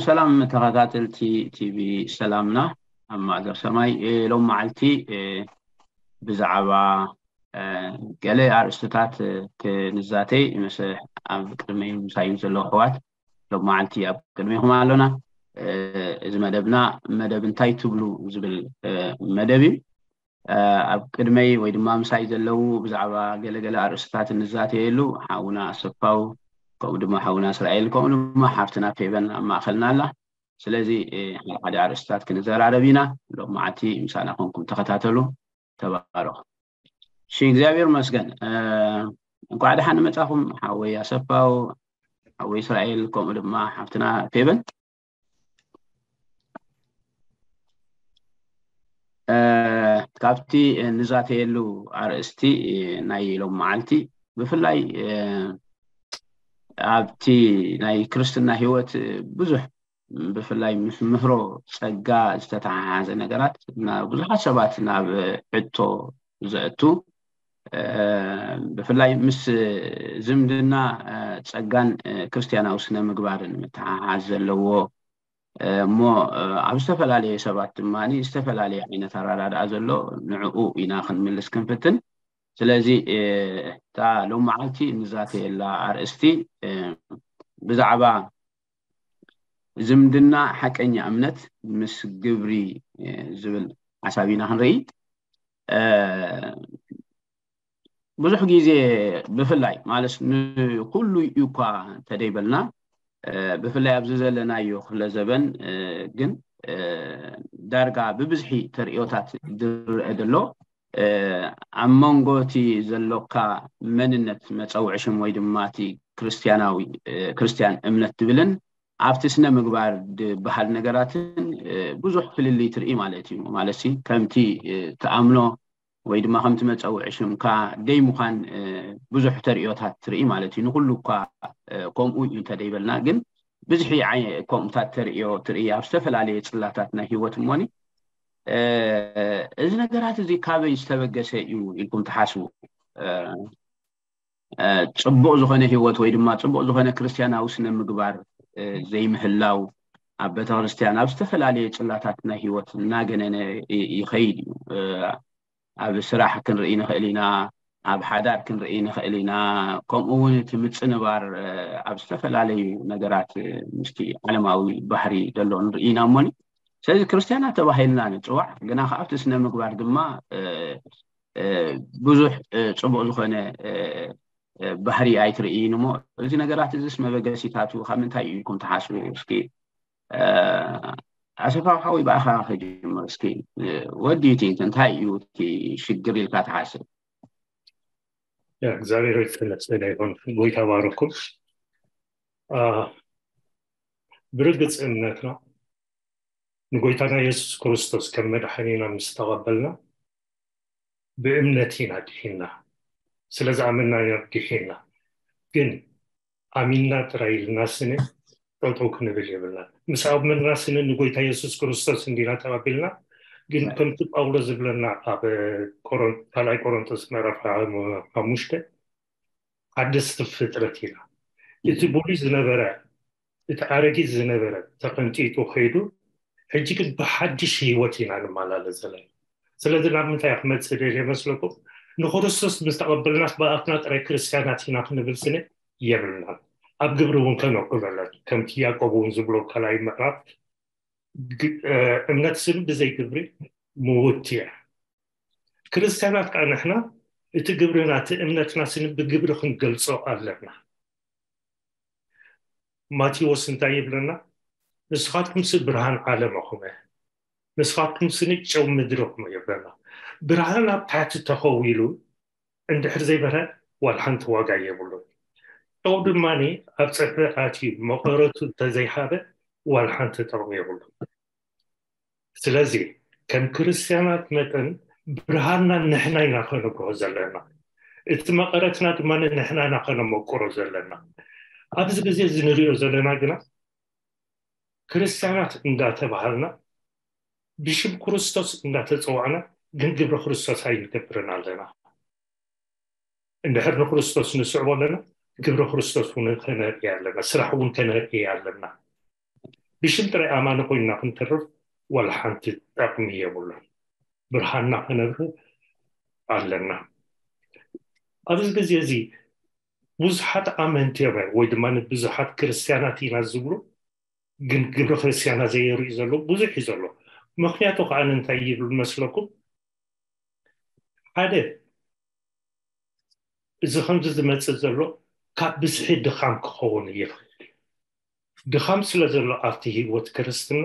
ሰላም ተኸታተልቲ ቲቪ ሰላምና ኣብ ማእዘር ሰማይ። ሎም መዓልቲ ብዛዕባ ገለ ኣርእስትታት ክንዛተይ ምስ ኣብ ቅድመይ ምሳይ ዘለዉ ኣሕዋት ሎም መዓልቲ ኣብ ቅድሜኹም ኣሎና። እዚ መደብና መደብ እንታይ ትብሉ ዝብል መደብ እዩ። ኣብ ቅድመይ ወይ ድማ ምሳይ ዘለዉ ብዛዕባ ገለገለ ኣርእስትታት እንዛተየሉ ሓውና ኣሰፋው፣ ከምኡ ድማ ሓውና እስራኤል፣ ከምኡ ድማ ሓፍትና ፌበን ኣብ ማእኸልና ኣላ። ስለዚ ሓደ ሓደ ኣርእስትታት ክንዘራረብ ኢና። ሎም መዓልቲ ምሳና ኮንኩም ተኸታተሉ። ተባረኹ። እሺ፣ እግዚኣብሔር መስገን። እንኳዕ ደሓን መጻኹም ሓወይ ኣሰፋው፣ ሓወይ እስራኤል፣ ከምኡ ድማ ሓፍትና ፌበን። ካብቲ ንዛተየሉ ኣርእስቲ ናይ ሎም መዓልቲ ብፍላይ ኣብቲ ናይ ክርስትና ህይወት ብዙሕ ብፍላይ ምስ ምህሮ ጸጋ ዝተተሓሓዘ ነገራት ብዙሓት ሰባት ናብ ዕቶ ዘእቱ፣ ብፍላይ ምስ ዝምድና ጸጋን ክርስትያናዊ ስነ ምግባርን ምትሓሓዝ ዘለዎ እሞ ኣብ ዝተፈላለየ ሰባት ድማ ዝተፈላለየ ዓይነት ኣራዳድኣ ዘሎ ንዕኡ ኢና ክንምልስ ክንፍትን። ስለዚ እታ ሎም መዓልቲ ንዛተየላ ኣርእስቲ ብዛዕባ ዝምድና ሓቀኛ እምነት ምስ ግብሪ ዝብል ሓሳብ ኢና ክንርኢ። ብዙሕ ግዜ ብፍላይ ማለት ንኩሉ እዩ እኳ እንተደይበልና ብፍላይ ኣብዚ ዘለናዮ ክፍለ ዘበን ግን ዳርጋ ብብዝሒ ተርእዮታት ዝረአ ዘሎ ኣብ መንጎ እቲ ዘሎካ መንነት መፀውዒ ሽም ወይ ድማ እቲ ክርስትያናዊ ክርስትያን እምነት ትብልን ኣብቲ ስነ ምግባር ዝበሃል ነገራትን ብዙሕ ፍልልይ ትርኢ ማለት እዩ። ማለት ከምቲ ትኣምኖ ወይ ድማ ከምቲ መፀውዒ ሽምካ ደይ ምዃን ብዙሕ ተርእዮታት ትርኢ ማለት እዩ። ንኩሉ እኳ ከምኡ እዩ እንተደይበልና ግን ብዝሒ ከምኡታት ተርእዮ ትርኢ ኣብ ዝተፈላለየ ፅላታት ናይ ህይወት እሞኒ እዚ ነገራት እዚ ካበይ ዝተበገሰ እዩ ኢልኩም ትሓስቡ? ፅቡቕ ዝኾነ ህይወት ወይ ድማ ፅቡቕ ዝኾነ ክርስትያናዊ ስነ ምግባር ዘይምህላው ኣብ ቤተክርስትያን ኣብ ዝተፈላለየ ፅላታት ናይ ህይወት እናገነነ ይኸይድ እዩ። ኣብ ስራሕ ክንርኢ ንኽእል ኢና፣ ኣብ ሓዳር ክንርኢ ንኽእል ኢና። ከምኡ እውን እቲ ምፅንባር ኣብ ዝተፈላለዩ ነገራት ምስቲ ዓለማዊ ባህሪ ዘሎ ንርኢ ኢና እሞኒ። ስለዚ ክርስትያናት ተባሂልና ንፅዋዕ፣ ግና ከኣ ኣብቲ ስነ ምግባር ድማ ብዙሕ ፅቡቕ ዝኾነ ባህሪ ኣይትርእይን እሞ እዚ ነገራት እዚስ መበገሲታቱ ካብ ምንታይ እዩ ኢልኩም ትሓስቡ? እስኪ ኣሰፋ ሓወይ ብኣኻ ክጅምር እስኪ። ወዲ ዩ ቲንክ እንታይ እዩ እቲ ሽግር ኢልካ ትሓስብ? እግዚኣብሔር ይመስገን ይኹን። ጎይታ ባርኩም። ብርግጽ እምነትና ንጎይታና የሱስ ክርስቶስ ከም መድሓኒና ምስ ተቐበልና ብእምነት ኢና ድሒንና። ስለ ዝኣመንና ኢና ድሒንና። ግን ኣሚንና ጥራይ ኢልና ስነ ጠጠው ክንብል የብልና። ምስ ኣመንና ስነ ንጎይታ የሱስ ክርስቶስ እንዲና ተቐቢልና። ግን ከምቲ ጳውሎስ ዝብለና ኣብ ካልኣይ ቆሮንቶስ ምዕራፍ ሓሙሽተ ሓደስቲ ፍጥረት ኢና። እቲ ብሉይ ዝነበረ እቲ ኣረጊት ዝነበረ ተቐንጢጡ ከይዱ ሕጂ ግን ብሓድሽ ህይወት ኢና ንመላለስ ዘለና። ስለዚ ናብ ምንታይ ክመፅእ ደልየ መስለኩም? ንክርስቶስ ምስ ተቐበልናስ ብኣፍና ጥራይ ክርስትያናት ኢና ክንብል ስነ የብልናን። ኣብ ግብሪ እውን ከነውዕሎ ኣለና። ከምቲ ያዕቆብ እውን ዝብሎ ካልኣይ ምዕራፍ እምነት ስም ብዘይ ግብሪ ምውት እያ። ክርስትያናት ከዓ ንሕና እቲ ግብርና እቲ እምነትና ስኒ ብግብሪ ክንገልፆ ኣለና። ማቴዎስ እንታይ ይብለና? ንስኻትኩም ሲ ብርሃን ዓለም ኢኹም፣ ንስኻትኩም ስኒ ጨው ምድሪ ኢኹም ይብለና። ብርሃን ኣብ ታሕቲ ተኸዊሉ እንድሕር ዘይበርሀ ዋላ ሓንቲ ዋጋ የብሉን። ጨው ድማ ኣብ ፀብሒ ኣትዩ መቐረቱ እንተዘይሃበ ዋላ ሓንቲ ጥቕሚ የብሉን። ስለዚ ከም ክርስትያናት መጠን ብርሃንና ንሕና ኢና ከነብርሆ ዘለና፣ እቲ መቐረትና ድማ ንሕና ኢና ከነመቁሮ ዘለና። ኣብዚ ግዜ እዚ ንሪኦ ዘለና ግና ክርስትያናት እንዳተባሃልና ብሽም ክርስቶስ እንዳተፀዋዕና ግን ግብሪ ክርስቶስ ኣይንገብርን ኣለና። እንድሕር ንክርስቶስ ንስዕቦ ኣለና ግብሪ ክርስቶስ እውን ከነርኢ ኣለና፣ ስራሕ እውን ከነርኢ ኣለና። ብሽም ጥራይ ኣማኒ ኮይንና ክንተርፍ ዋላ ሓንቲ ጠቕሚ የብሉን። ብርሃንና ክነብር ኣለና። ኣብዚ ግዜ እዚ ብዙሓት ኣመንቲ እዮም ወይ ድማ ብዙሓት ክርስትያናት ኢና ዝብሉ፣ ግን ግብሪ ክርስትያና ዘየርእዩ ዘለዉ ብዙሕ እዩ ዘሎ። ምክንያቱ ከዓ እንታይ ይብል መስለኩም? ሓደ፣ እዚ ከምዚ ዝመፅእ ዘሎ ካብ ብዝሒ ድኻም ክኸውን ይኽእል እዩ። ድኻም ስለ ዘሎ ኣብቲ ህይወት ክርስትና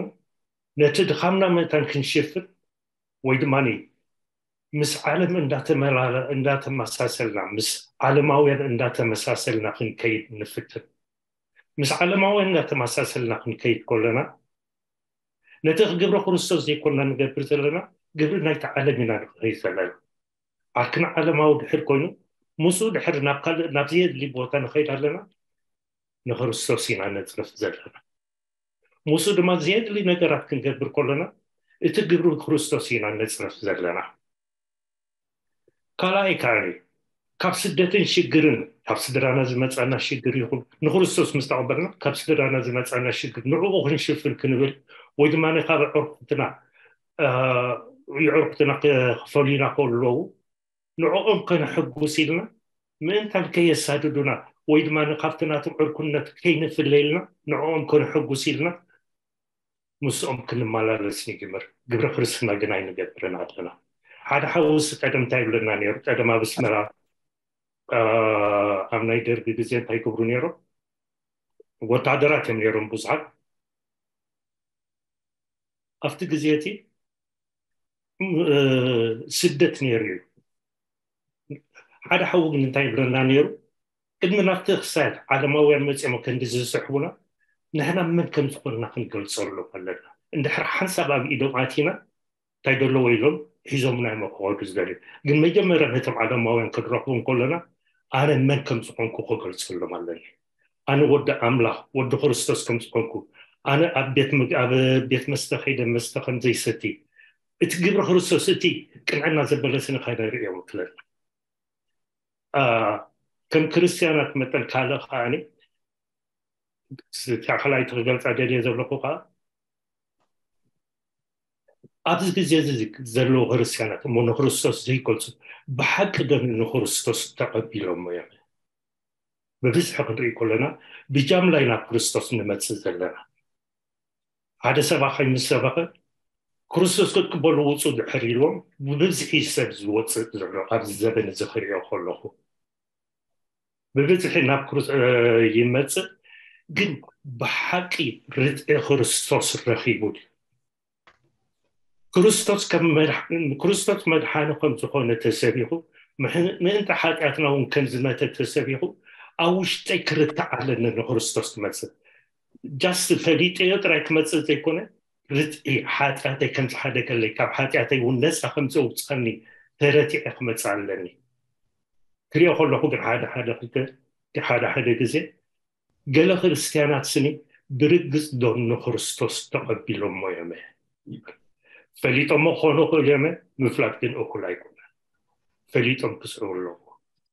ነቲ ድኻምና መጠን ክንሽፍን ወይ ድማ ምስ ዓለም እንዳተመላለ እንዳተመሳሰልና ምስ ዓለማውያን እንዳተመሳሰልና ክንከይድ ንፍትን። ምስ ዓለማውያን እንዳተመሳሰልና ክንከይድ ከለና ነቲ ግብሪ ክርስቶስ ዘይኮንና ንገብር ዘለና፣ ግብሪ ናይቲ ዓለም ኢና ንኸይድ ዘለና። ዓርክና ዓለማዊ ድሕር ኮይኑ ምስኡ ድሕር ናብ ካልእ ናብ ዘየድሊ ቦታ ንኸይድ ኣለና። ንክርስቶስ ኢና ነፅርፍ ዘለና። ምስኡ ድማ ዘየድሊ ነገራት ክንገብር ከለና እቲ ግብሪ ክርስቶስ ኢና ነፅርፍ ዘለና። ካልኣይ ከዓ ካብ ስደትን ሽግርን ካብ ስድራና ዝመፃና ሽግር ይኹን ንክርስቶስ ምስ ተቐበልና ካብ ስድራና ዝመፃና ሽግር ንዕኡ ክንሽፍን ክንብል ወይ ድማ ካብ ዕርኩትና ዕርኩትና ክፈሉና ከለዉ ንዕኦም ከነሐጉስ ኢልና ምእንታን ከየሳድዱና ወይ ድማ ካብቲ ናቶም ዕርኩነት ከይንፍለ ኢልና ንዕኦም ከነሐጉስ ኢልና ምስኦም ክንመላለስ ንጅምር። ግብረ ክርስትና ግን ኣይንገብርን ኣለና። ሓደ ሓውስ ቀደም እንታይ ይብለና ነይሩ? ቀደም ኣብ ኣስመራ ኣብ ናይ ደርጊ ግዜ እንታይ ይገብሩ ነይሮም? ወታደራት እዮም ነይሮም ብዙሓት። ኣብቲ ግዜ እቲ ስደት ነይሩ እዩ። ሓደ ሓዊ ግን እንታይ ይብለና ነይሩ? ቅድሚ ናብቲ ክሳድ ዓለማውያን መፂኦም ክንዲ ዝስሕቡና ንሕና መን ከም ዝኾንና ክንገልፀሎም ኣለና። እንድሕር ሓንሳብ ኣብ ኢዶም ኣቲና እንታይ ደለዎ ኢሎም ሒዞምና እዮም ክኸዱ ዝደልዩ። ግን መጀመርያ ነቶም ዓለማውያን ክንረኽቡ እንከለና ኣነ መን ከም ዝኾንኩ ክገልፀሎም ኣለኒ። ኣነ ወዲ ኣምላኽ ወዲ ክርስቶስ ከም ዝኾንኩ፣ ኣነ ኣብ ቤት መግ- ኣብ ቤት መስተ ከይደ መስተ ከም ዘይሰቲ፣ እቲ ግብሪ ክርስቶስ እቲ ቅንዕና ዘበለስኒ ከነርእዮም ክለና። ከም ክርስትያናት መጠን ካልእ ከዓኒ ካልኣይቲ ክገልፃ ደልየ ዘለኹ ከዓ ኣብዚ ግዜ እዚ ዘለዉ ክርስትያናት እሞ ንክርስቶስ ዘይገልፁ ብሓቂ ዶ ንክርስቶስ ተቐቢሎሞ እዮም? ብብዝሒ ክንርኢ ከለና ብጃምላ ኢና ክርስቶስ ንመፅእ ዘለና። ሓደ ሰባኻይ ምስ ሰበኸ ክርስቶስ ክትቅበሉ ውፁ ድሕር ኢልዎም ብብዝሒ ሰብ ዝወፅእ ዘሎ ኣብዚ ዘበን እዚ ክሪኦ ከለኹ ብብዝሒ ናብ ክርስ ይመፅእ፣ ግን ብሓቂ ርትዒ ክርስቶስ ረኺቡ ድዩ? ክርስቶስ ከም መድሓ- ክርስቶስ መድሓኒ ከም ዝኾነ ተሰቢኹ ምሕ- ምእንቲ ሓጢኣትና እውን ከም ዝመተ ተሰቢኹ ኣብ ውሽጠይ ክርታዕ ኣለኒ ንክርስቶስ ክመፅእ። ጃስት ፈሊጠዮ ጥራይ ክመፅእ ዘይኮነ ርትዒ ሓጢኣተይ ከም ዝሓደገለይ ካብ ሓጢኣተይ እውን ነፃ ከም ዘውፅኣኒ ተረቲዐ ክመፅእ ኣለኒ። ክሪኦ ከለኹ ግን ሓደ ሓደ ክልተ ሓደ ሓደ ግዜ ገለ ክርስትያናት ስኒ ብርግፅ ዶ ንክርስቶስ ተቐቢሎሞ እዮም? ፈሊጦሞ ክኾኑ ይኽእሉ እዮም፣ ምፍላጥ ግን እኹል ኣይኮነን። ፈሊጦም ክስዕቡ ኣለዎ።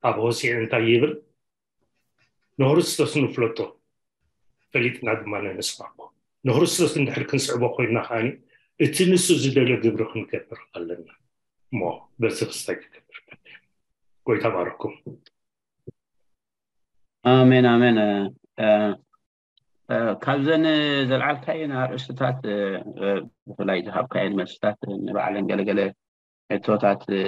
ኣብ ሆሴዕ እንታይ ይብል? ንክርስቶስ ንፍለጦ ፈሊጥና ድማ ንስዕቦ። ንክርስቶስ እንድሕር ክንስዕቦ ኮይንና ከዓኒ እቲ ንሱ ዝደልዮ ግብሪ ክንገብር ኣለና። እሞ በዚ ክስታይ ክገብር። ጎይታ ባረኩም። ኣሜን ኣሜን። እ፣ እ፣ ካብዘን ዘልዓልካየን ኣርእስትታት እ፣ እ፣ ብፍላይ ዝሃብካየን መልስታት ንባዕለን ገለገለ ሕቶታት እ፣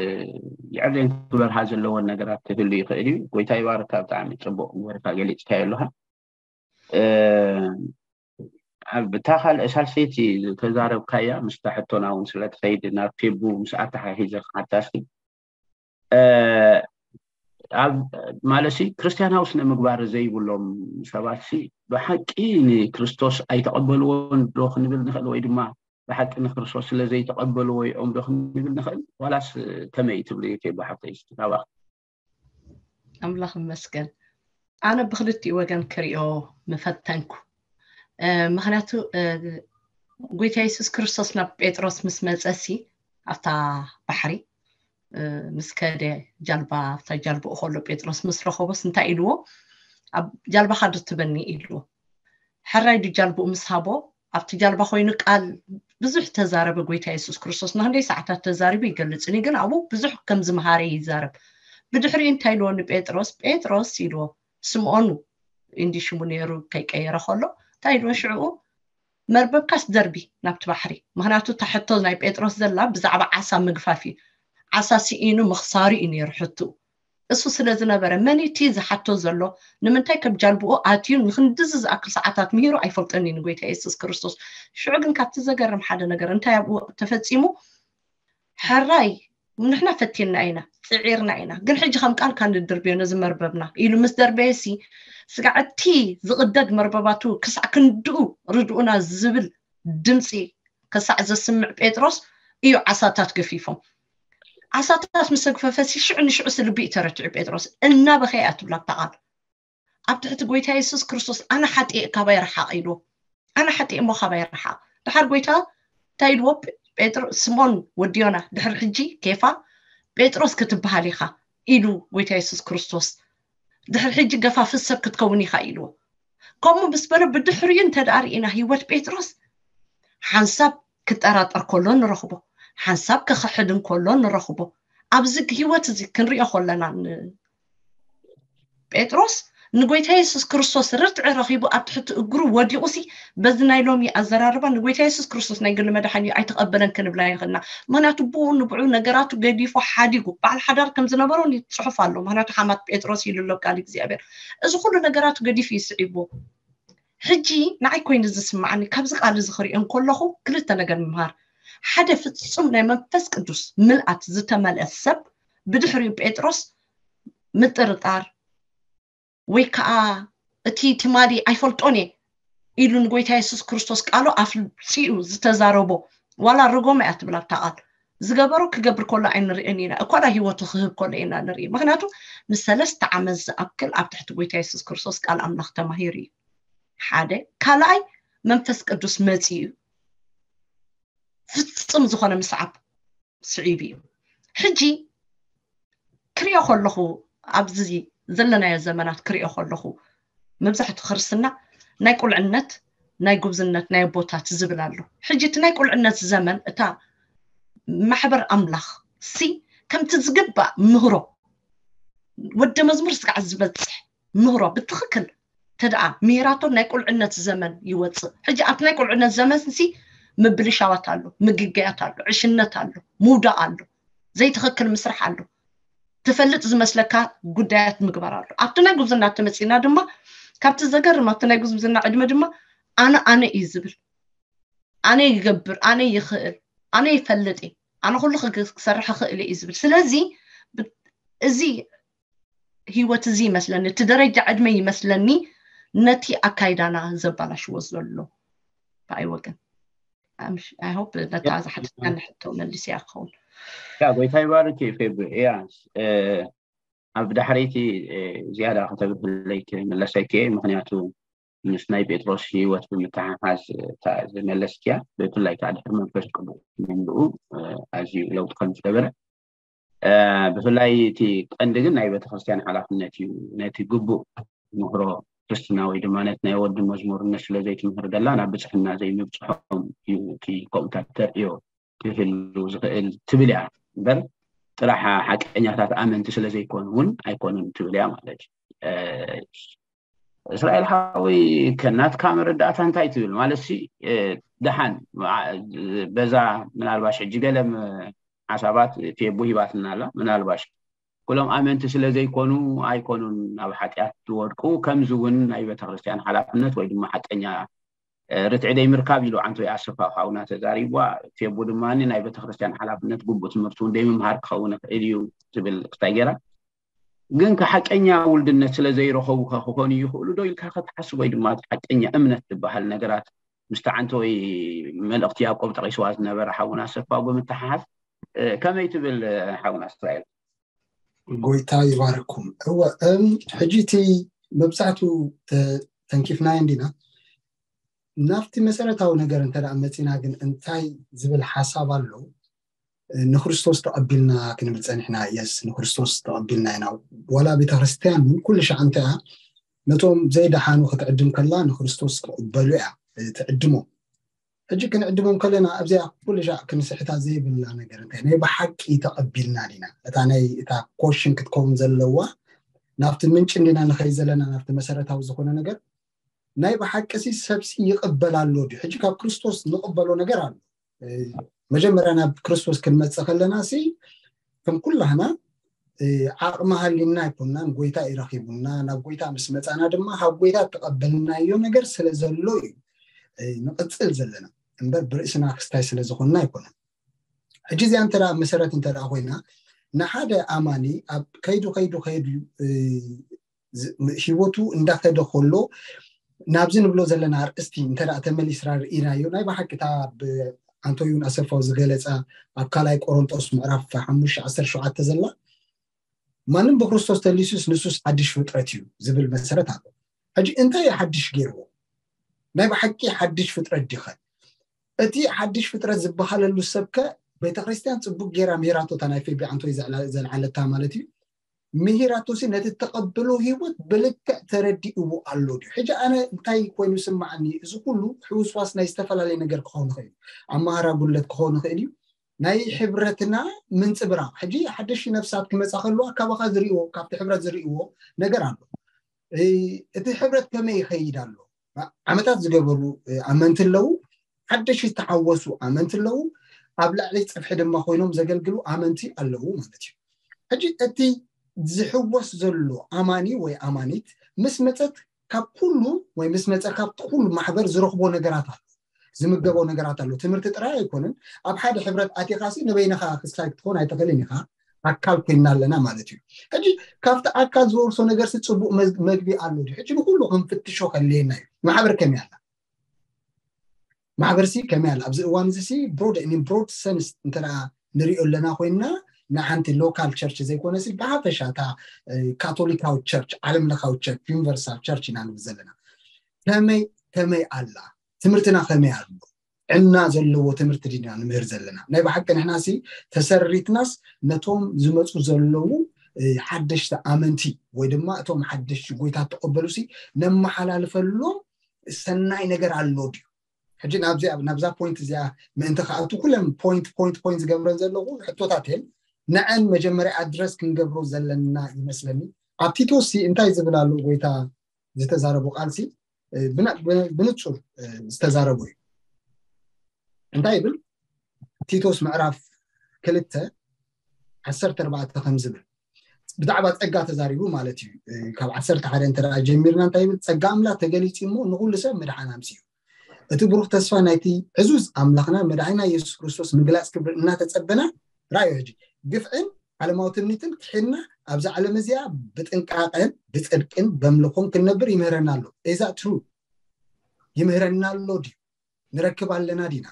የዕርየን ክበርሃ ዘለወን ነገራት ክህሉ ይኽእል እዩ። ጎይታ ይባርካ። ብጣዕሚ ፅቡቅ ገይርካ ገሊፅካዮ ኣለኻ። እ፣ ኣብ እታ ካልእ ሳልሰይቲ ዝተዛረብካያ ምስታ ሕቶና እውን ስለትኸይድ ናብ ፌቡ ምስ ኣተሓሒዘ ክሓታ እስኪ እ፣ ኣብ ማለትሲ ክርስትያናዊ ስነ ምግባር ዘይብሎም ሰባት ሲ ብሓቂ ንክርስቶስ ኣይተቐበልዎን ዶ ክንብል ንኽእል ወይ ድማ ብሓቂ ንክርስቶስ ስለ ዘይተቐበልዎ እዮም ዶ ክንብል ንኽእል? ዋላስ ከመይ ትብሊ ፌቡ ሓፍተይ? እስኪ ናባኺ። ኣምላኽ ይመስገን። ኣነ ብክልቲኡ ወገን ክሪኦ ምፈተንኩ። እ፣ ምኽንያቱ እ፣ ጎይታ የሱስ ክርስቶስ ናብ ጴጥሮስ ምስ መጸሲ ኣብታ ባሕሪ እ፣ ምስ ከደ ጃልባ ኣብታ ጃልባኡ ከሎ ጴጥሮስ ምስ ረኸቦስ እንታይ ኢልዎ? ኣብ ጃልባኻ ዶ ትበኒ ኢልዎ። ሕራይ ዱ ጃልባኡ ምስ ሃቦ ኣብቲ ጃልባ ኮይኑ ቃል ብዙሕ ተዛረበ ጎይታ የሱስ ክርስቶስ። ንክንደይ ሰዓታት ተዛሪቡ ይገልጽን እዩ፣ ግን ኣብኡ ብዙሕ ከም ዝመሃረ ይዛረብ። ብድሕሪኡ እንታይ ኢልዎ ንጴጥሮስ? ጴጥሮስ ኢልዎ፣ ስምዖን እንዲ ሽሙ ነይሩ ከይቀየረ ከሎ እንታይ ኢልዎ ሽዕኡ? መርበብካስ ደርቢ ናብቲ ባሕሪ። ምክንያቱ እታ ሕቶ ናይ ጴጥሮስ ዘላ ብዛዕባ ዓሳ ምግፋፍ እዩ። ዓሳ ስኢኑ ምኽሳሩ እዩ ነይሩ ሕትኡ። እሱ ስለ ዝነበረ መን እቲ ዝሓቶ ዘሎ? ንምንታይ ከብ ጃልብኡ ኣትዩ ንክንድዚ ዝኣክል ሰዓታት ምሂሩ ኣይፈልጦን እዩ ንጎይታ የሱስ ክርስቶስ። ሽዑ ግን ካብቲ ዘገርም ሓደ ነገር እንታይ ኣብኡ ተፈጺሙ? ሕራይ ንሕና ፈቲና ኢና፣ ጽዒርና ኢና፣ ግን ሕጂ ከም ቃልካ ንድርብዮ ነዚ መርበብና ኢሉ ምስ ደርበየሲ፣ ስጋዕ እቲ ዝቕደድ መርበባቱ ክሳዕ ክንድኡ ርድኡና ዝብል ድምፂ ክሳዕ ዘስምዕ ጴጥሮስ እዩ ዓሳታት ገፊፎም። ዓሳታት ምስ ኣግፈፈሲ ሽዑ ንሽዑ ስልቢ እዩ ተረቲዑ ጴጥሮስ። እናበኸየ እያ ትብላ ኣብታ ቃል። ኣብ ትሕቲ ጎይታ የሱስ ክርስቶስ ኣነ ሓጢእ ካባይ ረሓቕ ኢልዎ። ኣነ ሓጢእ እሞ ካባይ ረሓቕ። ድሓር ጎይታ እንታይ ኢልዎ? ጴጥሮ ስሞን ወዲ ዮና ድሕሪ ሕጂ ኬፋ ጴጥሮስ ክትበሃል ኢኻ ኢሉ ጎይታ የሱስ ክርስቶስ። ድሕሪ ሕጂ ገፋፊ ሰብ ክትከውን ኢኻ ኢልዎ። ከምኡ ምስ በሎ ብድሕሪኡ እንተ ደኣ ርኢና ህይወት ጴጥሮስ ሓንሳብ ክጠራጠር ከሎ ንረኽቦ፣ ሓንሳብ ክኽሕድ እንከሎ ንረኽቦ። ኣብዚ ህይወት እዚ ክንሪኦ ከለና ን- ጴጥሮስ ንጎይታ የሱስ ክርስቶስ ርትዒ ረኺቡ ኣብ ትሕቲ እግሩ ወዲቑ ሲ በዚ ናይ ሎሚ ኣዘራርባ ንጎይታ የሱስ ክርስቶስ ናይ ግሊ መድሓኒ ኣይተቐበለን ክንብላ ይኽእልና። ምክንያቱ ብኡ ንብዑ ነገራቱ ገዲፉ ሓዲጉ በዓል ሓዳር ከም ዝነበሮ ጽሑፍ ኣሎ። ምክንያቱ ሓማት ጴጥሮስ ኢሉ ኣሎ ቃል እግዚኣብሔር። እዚ ኩሉ ነገራቱ ገዲፉ እዩ ስዒብዎ። ሕጂ ንዓይ ኮይኑ ዝስማዓኒ ካብዚ ቃል እዚ ክሪኦ እንከለኹ ክልተ ነገር ምምሃር። ሓደ ፍጹም ናይ መንፈስ ቅዱስ ምልኣት ዝተመልአ ሰብ ብድሕሪኡ ጴጥሮስ ምጥርጣር ወይ ከዓ እቲ ትማሊ ኣይፈልጦን እየ ኢሉ ንጎይታ የሱስ ክርስቶስ ቃሉ ኣፍልፂኡ ዝተዛረቦ ዋላ ርጎም እያ ትብል ኣብታ ቃል ዝገበሮ ክገብር ከሎ ኣይንርእን ኢና እኳ ዳ ህይወቱ ክህብ ከሎ ኢና ንርኢ። ምክንያቱ ንሰለስተ ዓመት ዝኣክል ኣብ ትሕቲ ጎይታ የሱስ ክርስቶስ ቃል ኣምላኽ ተማሂሩ እዩ። ሓደ ካልኣይ መንፈስ ቅዱስ መፂኡ እዩ። ፍጹም ዝኾነ ምስዓብ ስዒቡ እዩ። ሕጂ ክሪኦ ከለኹ ኣብዚ ዘለናዮ ዘመናት ክሪኦ ከለኹ መብዛሕቱ ክርስትና ናይ ቁልዕነት ናይ ጉብዝነት ናይ ኣቦታት ዝብል ኣሎ። ሕጂ እቲ ናይ ቁልዕነት ዘመን እታ ማሕበር ኣምላኽ ሲ ከምቲ ዝግባእ ምህሮ ወደ መዝሙር ስጋዕ ዝበፅሕ ምህሮ ብትኽክል ተደኣ ምሂራቶ ናይ ቁልዕነት ዘመን ይወፅእ። ሕጂ ኣብቲ ናይ ቁልዕነት ዘመን ሲ ምብልሻዋት ኣሎ፣ ምግገያት ኣሎ፣ ዕሽነት ኣሎ፣ ምውዳቕ ኣሎ፣ ዘይትኽክል ምስራሕ ኣሎ፣ ትፈልጥ ዝመስለካ ጉዳያት ምግባር ኣሎ። ኣብቲ ናይ ጉብዝና ተመፂና ድማ ካብቲ ዘገርም ኣብቲ ናይ ጉብዝና ዕድመ ድማ ኣነ ኣነ እዩ ዝብል፣ ኣነ ይገብር፣ ኣነ ይኽእል፣ ኣነ ይፈልጥ እየ፣ ኣነ ኩሉ ክግ- ክሰርሕ ይኽእል እየ እዩ ዝብል። ስለዚ ብ- እዚ ህይወት እዚ ይመስለኒ እቲ ደረጃ ዕድመ ይመስለኒ ነቲ ኣካይዳና ዘባላሽዎ ዘሎ ብኣይ ወገን። I hope ነታ ዝሓተትካኒ ሕቶ መሊሰያ ክኸውን። ያ ጎይታ ይባርክ ፌብ ያ ኣብ ዳሕረይቲ ዝያዳ ከተብርህለይ ክምለሰኪ ምክንያቱ ምስ ናይ ጴጥሮስ ህይወት ብምትሓሓዝ ዝመለስኪያ ብፍላይ ከዓ ድሕሪ መንፈስ ቅዱስ ምምልኡ ኣዝዩ ለውጢ ከም ዝገበረ ብፍላይ እቲ ቀንዲ ግን ናይ ቤተክርስትያን ሓላፍነት እዩ። ነቲ ግቡእ ምህሮ ክርስትና ወይ ድማ ነቲ ናይ ወዲ መዝሙርነት ስለ ዘይትምህር ደላ ናብ ብፅሕና ዘይምብፅሖም እዩ እቲ ከምኡታት ተርእዮ ክህሉ ዝኽእል ትብል እያ እምበር ጥራሕ ሓቀኛታት ኣመንቲ ስለ ዘይኮኑ እውን ኣይኮኑን ትብል እያ ማለት እዩ። እስራኤል ሓወይ ከናትካ መረዳእታ እንታይ ትብል ማለት ሲ ደሓን በዛ ምናልባሽ ሕጂ ገለ ሓሳባት ፌቡ ሂባትና ኣላ ምናልባሽ ኩሎም ኣመንቲ ስለ ዘይኮኑ ኣይኮኑን ናብ ሓጢኣት ዝወድቁ ከምዚ እውን ናይ ቤተክርስትያን ሓላፍነት ወይ ድማ ሓቀኛ ርትዒ ደይ ምርካብ ኢሉ ዓንቶ ኣሰፋ ሓውና ተዛሪቧ ፌቡ ድማ ናይ ቤተክርስትያን ሓላፍነት ግቡእ ትምህርቲ እውን ደይ ምምሃር ክኸውን ይኽእል እዩ ትብል ክታይ ገይራ ግን ከሓቀኛ ውልድነት ስለ ዘይረኸቡ ክኾኑ ይኽእሉ ዶ ኢልካ ክትሓስብ ወይ ድማ ሓቀኛ እምነት ዝበሃል ነገራት ምስቲ ዓንቶ ወይ መልእኽቲ ያዕቆብ ጠቂስዋ ዝነበረ ሓውና ኣሰፋ ብምትሓሓዝ ከመይ ትብል ሓውና እስራኤል? ጎይታ ይባርኩም። እወ ሕጂ እቲ መብዛሕቱ ተንኪፍናዮ እንዲና ናብቲ መሰረታዊ ነገር እንተ መፂና ግን እንታይ ዝብል ሓሳብ ኣሎ ንክርስቶስ ተቐቢልና ክንብል ፀኒሕና የስ ንክርስቶስ ተቐቢልና ኢና ዋላ ቤተክርስትያን እውን ኩሉ ሻዕ እንታይ እያ ነቶም ዘይደሓኑ ክትዕድም ከላ ንክርስቶስ ክቕበሉ እያ ትዕድሞ ሕጂ ክንዕድሞም ከለና ኣብዚኣ ኩሉ ሻዕ ክንስሕታ ዘይብልና ነገር እንታይ ናይ ብሓቂ ተቐቢልና ዲና? እታ ናይ እታ ኮሽን ክትከውን ዘለዋ ናብቲ ምንጭ እንዲና ንኸይ ዘለና ናብቲ መሰረታዊ ዝኾነ ነገር ናይ ብሓቂ ሲ ሰብሲ ይቕበል ኣሎ ድዩ? ሕጂ ካብ ክርስቶስ ንቕበሎ ነገር ኣሎ። መጀመርያ ናብ ክርስቶስ ክንመጽእ ከለና ሲ ከም ኩላህና ዓቕሚ ሃሊና ኣይኮናን። ጎይታ ይረኪቡና። ናብ ጎይታ ምስ መጻና ድማ ካብ ጎይታ ተቐበልናዮ ነገር ስለ ዘሎ እዩ ንቕጽል ዘለና እምበር ብርእስና ክስታይ ስለ ዝኾንና ኣይኮነን። ሕጂ እዚኣ እንተ መሰረት እንተ ኮይና ንሓደ ኣማኒ ኣብ ከይዱ ከይዱ ከይዱ ህይወቱ እንዳኸደ ከሎ ናብዚ ንብሎ ዘለና ኣርእስቲ እንተ ተመሊስና ርኢናዮ ናይ ብሓቂ እታ ብኣንቶዩን ኣሰፋው ዝገለፃ ኣብ ካልኣይ ቆሮንጦስ ምዕራፍ ሓሙሽተ ዓሰርተ ሸውዓተ ዘላ ማንም ብክርስቶስ ተሊሱስ ንሱስ ሓድሽ ፍጥረት እዩ ዝብል መሰረት ኣሎ። ሕጂ እንታይ እዩ ሓድሽ ገይርዎ? ናይ ብሓቂ ሓድሽ ፍጥረት ዲኸ? እቲ ሓድሽ ፍጥረት ዝበሃለሉ ሰብከ ቤተክርስትያን ፅቡቅ ገይራ ምሂራቶ እታ ናይ ፌቢ ኣንቶይ ዘልዓለታ ማለት እዩ። ምሂራቶሲ ነቲ ተቐብሎ ህይወት ብልክዕ ተረዲእዎ ኣሎ ድዩ? ሕጂ ኣነ እንታይ ኮይኑ ስማዓኒ? እዚ ኩሉ ሕውስዋስ ናይ ዝተፈላለየ ነገር ክኸውን ይኽእል እዩ። ኣመሃራ ጉለት ክኸውን ይኽእል እዩ። ናይ ሕብረትና ምንፅብራቕ ሕጂ ሓደሽ ነፍሳት ክመፃ ከለዋ ካባኻ ዝርእዎ ካብቲ ሕብረት ዝርእዎ ነገር ኣሎ። እቲ ሕብረት ከመይ ይኸይድ ኣሎ? ዓመታት ዝገበሩ ኣመንቲ ኣለዉ። ሓደሽ ዝተሓወሱ ኣመንቲ ኣለዉ። ኣብ ላዕሊ ፅፍሒ ድማ ኮይኖም ዘገልግሉ ኣመንቲ ኣለዉ ማለት እዩ። ሕጂ እቲ ዝሕወስ ዘሎ ኣማኒ ወይ ኣማኒት ምስ መፀት ካብ ኩሉ ወይ ምስ መፀ ካብቲ ኩሉ ማሕበር ዝረኽቦ ነገራት ኣሎ። ዝምገቦ ነገራት ኣሎ። ትምህርቲ ጥራይ ኣይኮነን። ኣብ ሓደ ሕብረት ኣቲኻሲ ንበይንኻ ክስታይ ክትኾን ኣይትኽእልን ኢኻ። ኣካል ኮይና ኣለና ማለት እዩ። ሕጂ ካብቲ ኣካል ዝወርሶ ነገርሲ ፅቡቅ መግቢ ኣሎ ድዩ? ሕጂ ንኩሉ ክንፍትሾ ከድልየና እዩ። ማሕበር ከመይ ኣላ? ማሕበርሲ ከመይ ኣላ? ኣብዚ እዋን እዚ ሲ ብሮድ ብሮድ ሰንስ እንተ ንሪኦ ኣለና ኮይንና ንሓንቲ ሎካል ቸርች ዘይኮነሲ ብሓፈሻ እታ ካቶሊካዊ ቸርች፣ ዓለም ለኻዊ ቸርች፣ ዩኒቨርሳል ቸርች ኢና ንብል ዘለና። ከመይ ከመይ ኣላ? ትምህርትና ከመይ ኣሎ? ዕና ዘለዎ ትምህርቲ ዲና ንምህር ዘለና? ናይ ብሓቂ ንሕናሲ ተሰሪትናስ ነቶም ዝመፁ ዘለዉ ሓደሽቲ ኣመንቲ ወይ ድማ እቶም ሓደሽቲ ጎይታ ተቐበሉሲ ነመሓላልፈሎም ሰናይ ነገር ኣሎ ድዩ? ሕጂ ናብዚ ናብዛ ፖይንት እዚኣ ምእንቲ ከኣቱ ኩለን ፖይንት ፖይንት ፖይንት ዝገብረን ዘለኹ ሕቶታት እየን። ንዐን መጀመርያ ኣድረስ ክንገብሮ ዘለና ይመስለኒ። ኣብ ቲቶስ እንታይ ዝብል ኣሎ ጎይታ ዝተዛረቦ ቃልሲ ብንፁር ዝተዛረቦ እዩ። እንታይ ይብል? ቲቶስ ምዕራፍ ክልተ ዓሰርተ ኣርባዕተ ከም ዝብል ብዛዕባ ፀጋ ተዛሪቡ ማለት እዩ። ካብ ዓሰርተ ሓደ እንተ ጀሚርና እንታይ ይብል? ፀጋ ኣምላኽ ተገሊፂ እሞ ንኩሉ ሰብ ምድሓን ኣምፅኡ። እቲ ብሩኽ ተስፋ ናይቲ ዕዙዝ ኣምላኽና መድሓኒና የሱስ ክርስቶስ ምግላፅ ክብሪ እናተፀበና ራእዩ። ሕጂ ግፍዕን ዓለማዊ ትምኒትን ክሒድና ኣብዛ ዓለም እዚኣ ብጥንቃቐን ብፅድቅን በምልኾን ክንነብር ይምህረና ኣሎ። እዛ ትሩ ይምህረና ኣሎ ድዩ? ንረክብ ኣለና ዲና?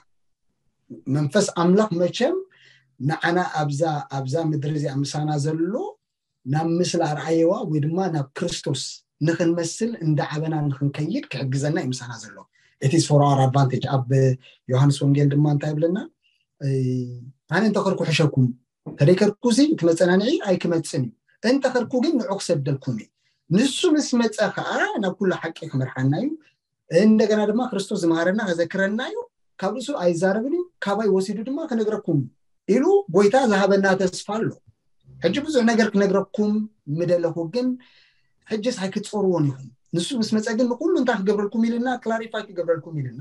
መንፈስ ኣምላኽ መቸም ንዓና ኣብዛ ኣብዛ ምድሪ እዚኣ ምሳና ዘሎ ናብ ምስላ ኣርኣየዋ ወይ ድማ ናብ ክርስቶስ ንክንመስል እንዳዓበና ንክንከይድ ክሕግዘና እዩ ምሳና ዘሎ። It is for our advantage። ኣብ ዮሃንስ ወንጌል ድማ እንታይ ይብለና? ኣነ እንተኸርኩ ሕሸኩም፣ ተደይከርኩ ሲ እቲ መፀናንዒ ኣይክመፅን እዩ፣ እንተኸርኩ ግን ንዑ ክሰደልኩም እዩ። ንሱ ምስ መፀ ከዓ ናብ ኩሉ ሓቂ ክመርሓና እዩ። እንደገና ድማ ክርስቶስ ዝመሃረና ከዘክረና እዩ። ካብ ርእሱ ኣይዛረብን እዩ፣ ካባይ ወሲዱ ድማ ክነግረኩም ኢሉ ጎይታ ዝሃበና ተስፋ ኣሎ። ሕጂ ብዙሕ ነገር ክነግረኩም ምደለኹ፣ ግን ሕጅስ ኣይክትፀርዎን ኢኹም። ንሱ ምስ መፀ ግን ንኩሉ እንታይ ክገብረልኩም ኢልና፣ ክላሪፋይ ክገብረልኩም ኢልና።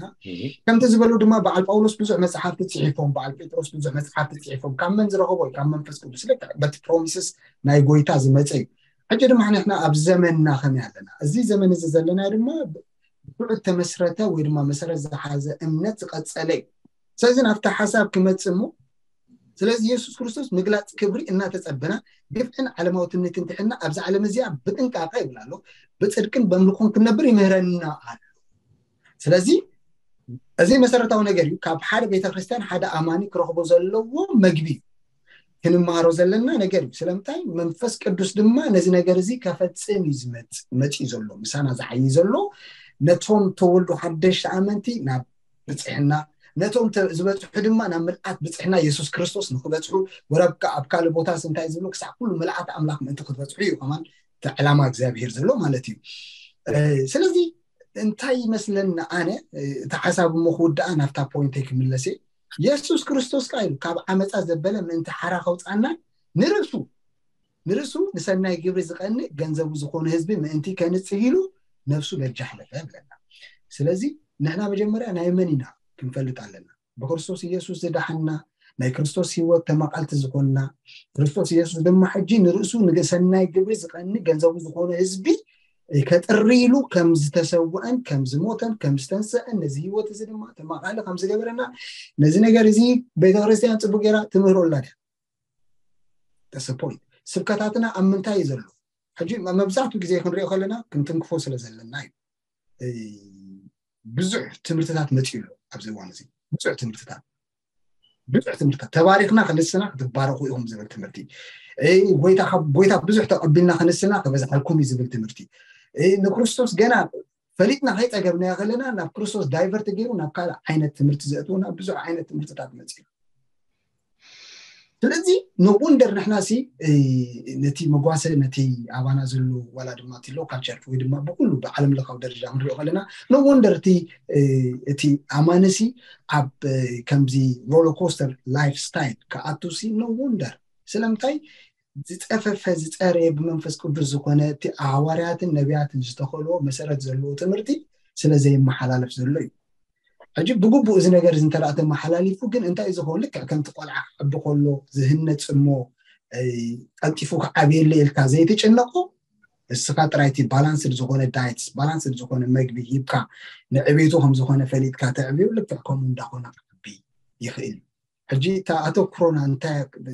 ከምቲ ዝበሉ ድማ በዓል ጳውሎስ ብዙሕ መፅሓፍቲ ፅሒፎም፣ በዓል ጴጥሮስ ብዙሕ መፅሓፍቲ ፅሒፎም። ካብ መን ዝረኸቦ እዩ? ካብ መንፈስ ቅዱስ። ልክዕ በቲ ፕሮሚስስ ናይ ጎይታ ዝመፀ እዩ። ሕጂ ድማ ንሕና ኣብ ዘመንና ከመይ ኣለና? እዚ ዘመን እዚ ዘለና ድማ ብትዑት ተመስረተ ወይ ድማ መሰረት ዝሓዘ እምነት ዝቐፀለ እዩ። ስለዚ ናብቲ ሓሳብ ክመፅእ እሞ ስለዚ የሱስ ክርስቶስ ምግላፅ ክብሪ እናተፀበና ግፍዕን ዓለማዊ ትምኒትን ትሕና ኣብዛ ዓለም እዚኣ ብጥንቃቐ ይብል ኣሎ። ብፅድቅን በምልኾን ክንነብር ይምህረና ኣሎ። ስለዚ እዚ መሰረታዊ ነገር እዩ። ካብ ሓደ ቤተክርስትያን ሓደ ኣማኒ ክረኽቦ ዘለዎ መግቢ እዩ። ክንመሃሮ ዘለና ነገር እዩ። ስለምንታይ መንፈስ ቅዱስ ድማ ነዚ ነገር እዚ ከፈፅም እዩ ዝመፅ መፂኡ ዘሎ ምሳና ዝዓይ ዘሎ ነቶም ተወልዱ ሓደሽቲ ኣመንቲ ናብ ብፅሕና ነቶም ዝበፅሑ ድማ ናብ ምልኣት ብፅሕና የሱስ ክርስቶስ ንክበፅሑ ወረብካ ኣብ ካልእ ቦታስ እንታይ ዝብሉ ክሳዕ ኩሉ ምልኣት ኣምላኽ ምእንቲ ክትበፅሑ እዩ ከማን እቲ ዕላማ እግዚኣብሄር ዘሎ ማለት እዩ። ስለዚ እንታይ ይመስለኒ ኣነ፣ እቲ ሓሳብ እሞ ክውድኣ ናብታ ፖይንተይ ክምለስ እየ። የሱስ ክርስቶስ ከኣ ኢሉ ካብ ዓመፃ ዘበለ ምእንቲ ሓራ ከውፃና ንርእሱ ንርእሱ ንሰናይ ግብሪ ዝቐንእ ገንዘቡ ዝኾነ ህዝቢ ምእንቲ ከንጽህ ኢሉ ነፍሱ በጃ ሕለፈ ብለና። ስለዚ ንሕና መጀመርያ ናይ መን ኢና ክንፈልጥ ኣለና። ብክርስቶስ ኢየሱስ ዝደሓና፣ ናይ ክርስቶስ ህይወት ተመቓልቲ ዝኾንና፣ ክርስቶስ ኢየሱስ ድማ ሕጂ ንርእሱ ንሰናይ ግብሪ ዝቐኒ ገንዘቡ ዝኾነ ህዝቢ ከጥሪ ኢሉ ከም ዝተሰውአን ከም ዝሞተን ከም ዝተንሰአን ነዚ ህይወት እዚ ድማ ተማቓሊ ከም ዝገበረና ነዚ ነገር እዚ ቤተክርስትያን ጽቡቅ ገይራ ትምህሮ ኣላ ድያ? ተሰፖይንት ስብከታትና ኣብ ምንታይ እዩ ዘሎ? ሕጂ መብዛሕትኡ ግዜ ክንሪኦ ከለና ክንትንክፎ ስለ ዘለና እዩ። ብዙሕ ትምህርትታት መፂኡ ኣሎ ኣብዚ እዋን እዚ። ብዙሕ ትምህርትታት ብዙሕ ትምህርትታት ተባሪኽና ክንስና ክትባረኹ ኢኹም ዝብል ትምህርቲ፣ ጎይታ ብዙሕ ተቐቢልና ክንስና ክበዝሓልኩም እዩ ዝብል ትምህርቲ፣ ንክርስቶስ ገና ፈሊጥና ከይፀገብናዮ ከለና ናብ ክርስቶስ ዳይቨርት ገይሩ ናብ ካልእ ዓይነት ትምህርቲ ዘእትውና ብዙሕ ዓይነት ትምህርትታት መፂኡ። ስለዚ ኖ ወንደር ንሕና ሲ ነቲ መጓሰ ነቲ ኣባና ዘሎ ዋላ ድማ እቲ ሎካል ቸርች ወይ ድማ ብኩሉ ብዓለም ለካዊ ደረጃ ክንሪኦ ከለና ኖ ወንደር እቲ እቲ ኣማንሲ ኣብ ከምዚ ሮለር ኮስተር ላይፍ ስታይል ክኣቱ ሲ ኖ ወንደር። ስለምንታይ ዝፀፈፈ ዝፀረየ ብመንፈስ ቅዱስ ዝኾነ እቲ ኣዋርያትን ነቢያትን ዝተኸልዎ መሰረት ዘለዎ ትምህርቲ ስለ ዘይመሓላለፍ ዘሎ እዩ። ሕጂ ብግቡእ እዚ ነገር እዚ እንተ ተመሓላሊፉ ግን እንታይ እዩ ዝኸውን? ልክዕ ከምቲ ቆልዓ ክዕቢ ከሎ ዝህነፅ እሞ ቀልጢፉ ክዓብየለ ኢልካ ዘይትጭነቆ፣ እስኻ ጥራይ እቲ ባላንስድ ዝኾነ ዳይትስ ባላንስድ ዝኾነ መግቢ ሂብካ ንዕቤቱ ከም ዝኾነ ፈሊጥካ ተዕብዮ ልክዕ ከምኡ እንዳኾነ ክዓቢ ይኽእል እዩ። ሕጂ እታ ኣተኩሮና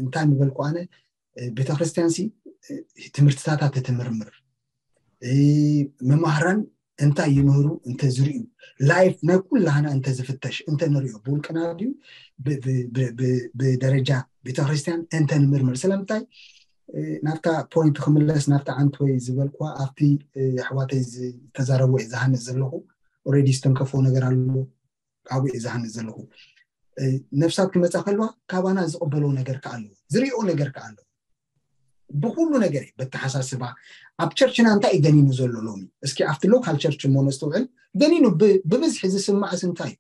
እንታይ ምበልኩ ኣነ? ቤተክርስትያን ሲ ትምህርትታታ ተትምርምር፣ መማህራን እንታይ ይምህሩ እንተዝርእዩ፣ ላይፍ ናይ ኩላህና እንተዝፍተሽ እንተንሪኦ ብውልቅና ድዩ ብደረጃ ቤተክርስትያን እንተንምርምር። ስለምንታይ ናብታ ፖይንት ክምለስ ናብታ ዓንትወይ ዝበልኩዋ ኣብቲ ኣሕዋተይ ዝተዛረብዎ እየ ዝሃንፅ ዘለኹ። ኦሬዲ ዝተንከፎ ነገር ኣሎ። ካብኡ እየ ዝሃንፅ ዘለኹ። ነፍሳት ክመፃ ከለዋ ካባና ዝቕበሎ ነገር ከኣ ኣለዎ፣ ዝሪኦ ነገር ከኣ ኣለዎ። ብኩሉ ነገር እዩ በተሓሳስባ ኣብ ቸርችና እንታይ እዩ ገኒኑ ዘሎ ሎሚ? እስኪ ኣብቲ ሎካል ቸርች እሞ ነስተውዕል። ገኒኑ ብብዝሒ ዝስማዕስ እንታይ እዩ?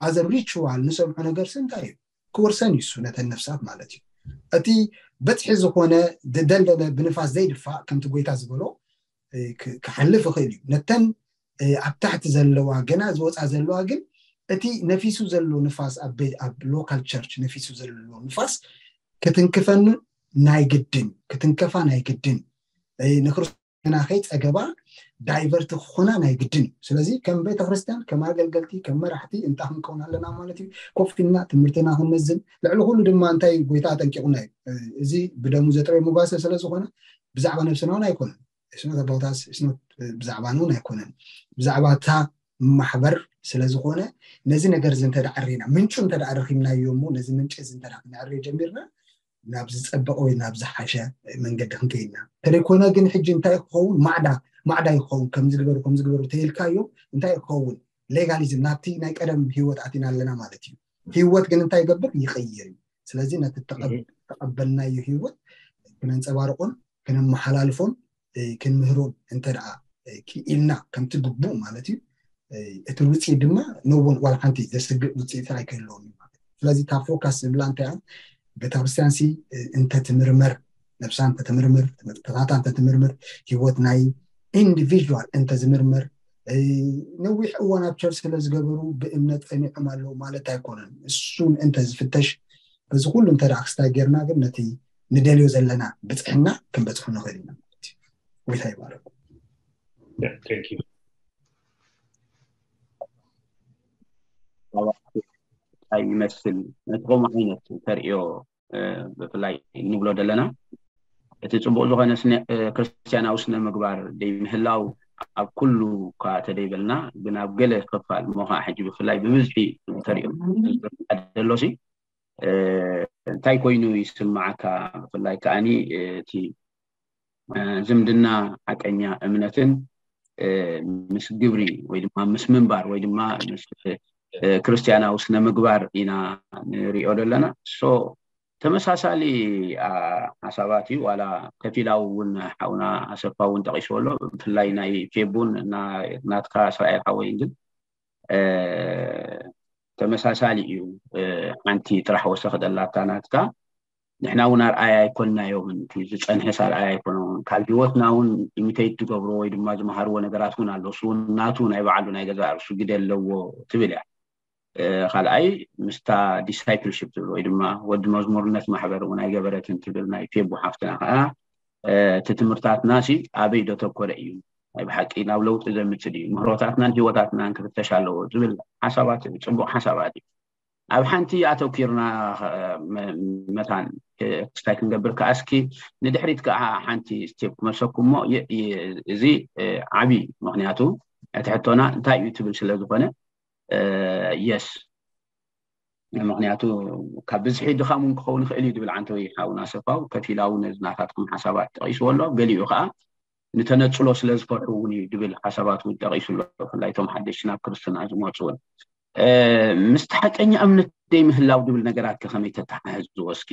ኣዘ ሪቹዋል ንሰምዖ ነገርስ እንታይ እዩ? ክወርሰን እዩ እሱ ነተን ነፍሳት ማለት እዩ። እቲ በፅሒ ዝኾነ ዝደልደለ ብንፋስ ዘይድፋእ ከምቲ ጎይታ ዝበሎ ክሓልፍ ይኽእል እዩ። ነተን ኣብ ታሕቲ ዘለዋ ገና ዝወፃ ዘለዋ ግን እቲ ነፊሱ ዘሎ ንፋስ ኣብ ሎካል ቸርች ነፊሱ ዘሎ ንፋስ ክትንክፈን ናይ ግድን ክትንከፋ ናይ ግድን ንክርስቶስና ከይፀገባ ዳይቨርት ክኾና ናይ ግድን እዩ። ስለዚ ከም ቤተክርስትያን ከም ኣገልገልቲ ከም መራሕቲ እንታይ ክንከውን ኣለና ማለት እዩ? ኮፍ ኢልና ትምህርትና ክንመዝን ልዕሊ ኩሉ ድማ እንታይ ጎይታ ኣጠንቂቑና እዩ። እዚ ብደሙ ዘጥረየ መጓሰ ስለዝኾነ ብዛዕባ ነብስና እውን ኣይኮነን። ብዛዕባ እውን ኣይኮነን፣ ብዛዕባ እታ ማሕበር ስለዝኾነ ነዚ ነገር እዚ እንተ ኣሪና ምንጩ እንተ ረኺብናዮ እሞ ነዚ ምንጭ እዚ እንተ ክነዕርዮ ጀሚርና ናብ ዝፀበቐ ወይ ናብ ዝሓሸ መንገዲ ክንከይድና። እንተደይኮነ ግን ሕጂ እንታይ ክኸውን ማዕዳ ማዕዳ ይኸውን ከምዝግበሩ ከምዝግበሩ ተይልካዮ እንታይ ክኸውን ሌጋሊዝም ናብቲ ናይ ቀደም ህይወት ኣቲና ኣለና ማለት እዩ። ህይወት ግን እንታይ ይገብር ይቕይር እዩ። ስለዚ ነቲ ተቐበልናዮ ህይወት ክነንፀባርቆን ክነመሓላልፎን ክንምህሮን እንተ ደኣ ክኢልና ከምቲ ግቡእ ማለት እዩ። እቲ ውፅኢት ድማ ነውን ዋላ ሓንቲ ዘስግእ ውፅኢት ኣይክህልዎም እዩ ማለት እዩ። ስለዚ እታ ፎካስ ዝብላ እንታይ እያ? ቤተክርስትያን ሲ እንተትምርመር ነብሳ እንተትምርምር ትምህርትታታ እንተትምርምር ህይወት ናይ ኢንዲቪዥዋል እንተዝምርመር ነዊሕ እዋን ኣብ ቸርች ስለ ዝገበሩ ብእምነት ጸኒዖም ኣለዉ ማለት ኣይኮነን። እሱ ምእንተ ዝፍተሽ በዚ ኩሉ እንተ ደኣ ክስታይ ጌርና ግን ነቲ ንደልዮ ዘለና ብጽሕና ክንበጽሖ ንኽእል ኢና ማለት እዩ። ጎይታ ይባረኩም። እንታይ ይመስል ነቲ ከምኡ ዓይነት ተርእዮ ብፍላይ ንብሎ ዘለና እቲ ፅቡቅ ዝኾነ ክርስትያናዊ ስነ ምግባር ደይምህላው ኣብ ኩሉ እኳ ተደይበልና ግን ኣብ ገለ ክፋል እሞ ከዓ ሕጂ ብፍላይ ብብዝሒ ተሪኦ ደሎሲ እንታይ ኮይኑ ይስማዓካ? ብፍላይ ከዓኒ እቲ ዝምድና ሓቀኛ እምነትን ምስ ግብሪ ወይ ድማ ምስ ምንባር ወይ ድማ ምስ ክርስትያናዊ ስነ ምግባር ኢና ንሪኦ ዘለና። ሶ ተመሳሳሊ ሓሳባት እዩ። ዋላ ከፊላዊ እውን ሓውና ኣሰፋ እውን ጠቂስዎ ኣሎ። ብፍላይ ናይ ፌቡን ናትካ እስራኤል ሓወይን ግን ተመሳሳሊ እዩ። ሓንቲ ጥራሕ ወሰኽደላታ ናትካ፣ ንሕና እውን ኣርኣያ ኣይኮንናዮምን፣ ዝፀንሐስ ኣርኣያ ኣይኮነውን፣ ካብ ሂወትና እውን ኢሚቴት ዝገብርዎ ወይ ድማ ዝመሃርዎ ነገራት እውን ኣሎ። እሱ እውን ናቱ ናይ ባዕሉ ናይ ገዛ ርእሱ ግደ ኣለዎ ትብል እያ። ካልኣይ ምስታ ዲሳይፕልሽፕ ትብል ወይ ድማ ወዲ መዝሙርነት ማሕበር እውን ኣይገበረትን ትብል ናይ ፌቡ ሓፍትና ከዓ እቲ ትምህርታትና ሲ ኣበይ ደተኮረ እዩ? ናይ ብሓቂ ናብ ለውጢ ዘምፅእ ድዩ? ምህሮታትናን ሂወታትናን ክፍተሽ ኣለዎ ዝብል ሓሳባት እዩ። ፅቡቅ ሓሳባት እዩ። ኣብ ሓንቲ ኣተኪርና መታን ክስታይ ክንገብር ከዓ እስኪ ንድሕሪት ከዓ ሓንቲ ስቴፕ ክመልሰኩም እሞ እዚ ዓብይ ምክንያቱ እቲ ሕቶና እንታይ እዩ ትብል ስለዝኮነ የስ ምክንያቱ ካብ ብዝሒ ድኻም እውን ክኸውን ይኽእል እዩ ድብል ዓንተወይ ሓውና ሰፋው ከፊላዊ ነዚ ናታትኩም ሓሳባት ጠቂስዎ ኣሎ። ገሊኡ ከዓ ንተነፅሎ ስለ ዝፈርሑ እውን እዩ ድብል ሓሳባት እውን ጠቂሱ ኣሎ። ብፍላይ እቶም ሓደሽቲ ናብ ክርስትና ዝመፁ እውን ምስቲ ሓቀኛ እምነት ደይ ምህላው ድብል ነገራት ከመይ ተተሓሕዝዎ? እስኪ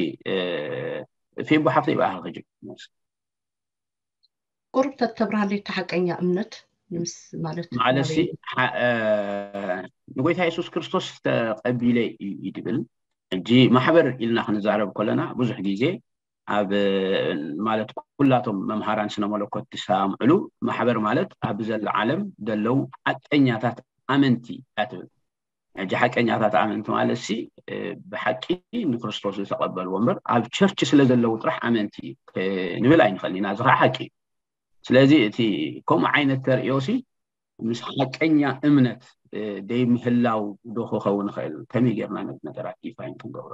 ፌቡ ሓፍተይ ብኣኻ ከጅብ ቁሩብ ተተብርሃለይ እቲ ሓቀኛ እምነት ምስ ማለት ማለት ንጎይታ የሱስ ክርስቶስ ተቀቢለ እዩ ድብል። ሕጂ ማሕበር ኢልና ክንዛረብ ከለና ብዙሕ ግዜ ኣብ ማለት ኩላቶም መምሃራን ስነ መለኮት ዝሰማምዕሉ ማሕበር ማለት ኣብ ዘለ ዓለም ዘለዉ ሓቀኛታት ኣመንቲ እያ ትብል። ሕጂ ሓቀኛታት ኣመንቲ ማለት ሲ ብሓቂ ንክርስቶስ ዝተቀበልዎ እምበር ኣብ ቸርች ስለ ዘለዉ ጥራሕ ኣመንቲ ንብል ኣይንኽእል ኢና። እዚ ከዓ ሓቂ እዩ። ስለዚ እቲ ከምኡ ዓይነት ተርእዮ ሲ ምስ ሓቀኛ እምነት ደይ ምህላው ዶ ክኸውን ይኽእል? ከመይ ጌርና ነዚ ነገራት ዲፋይን ክንገብሮ?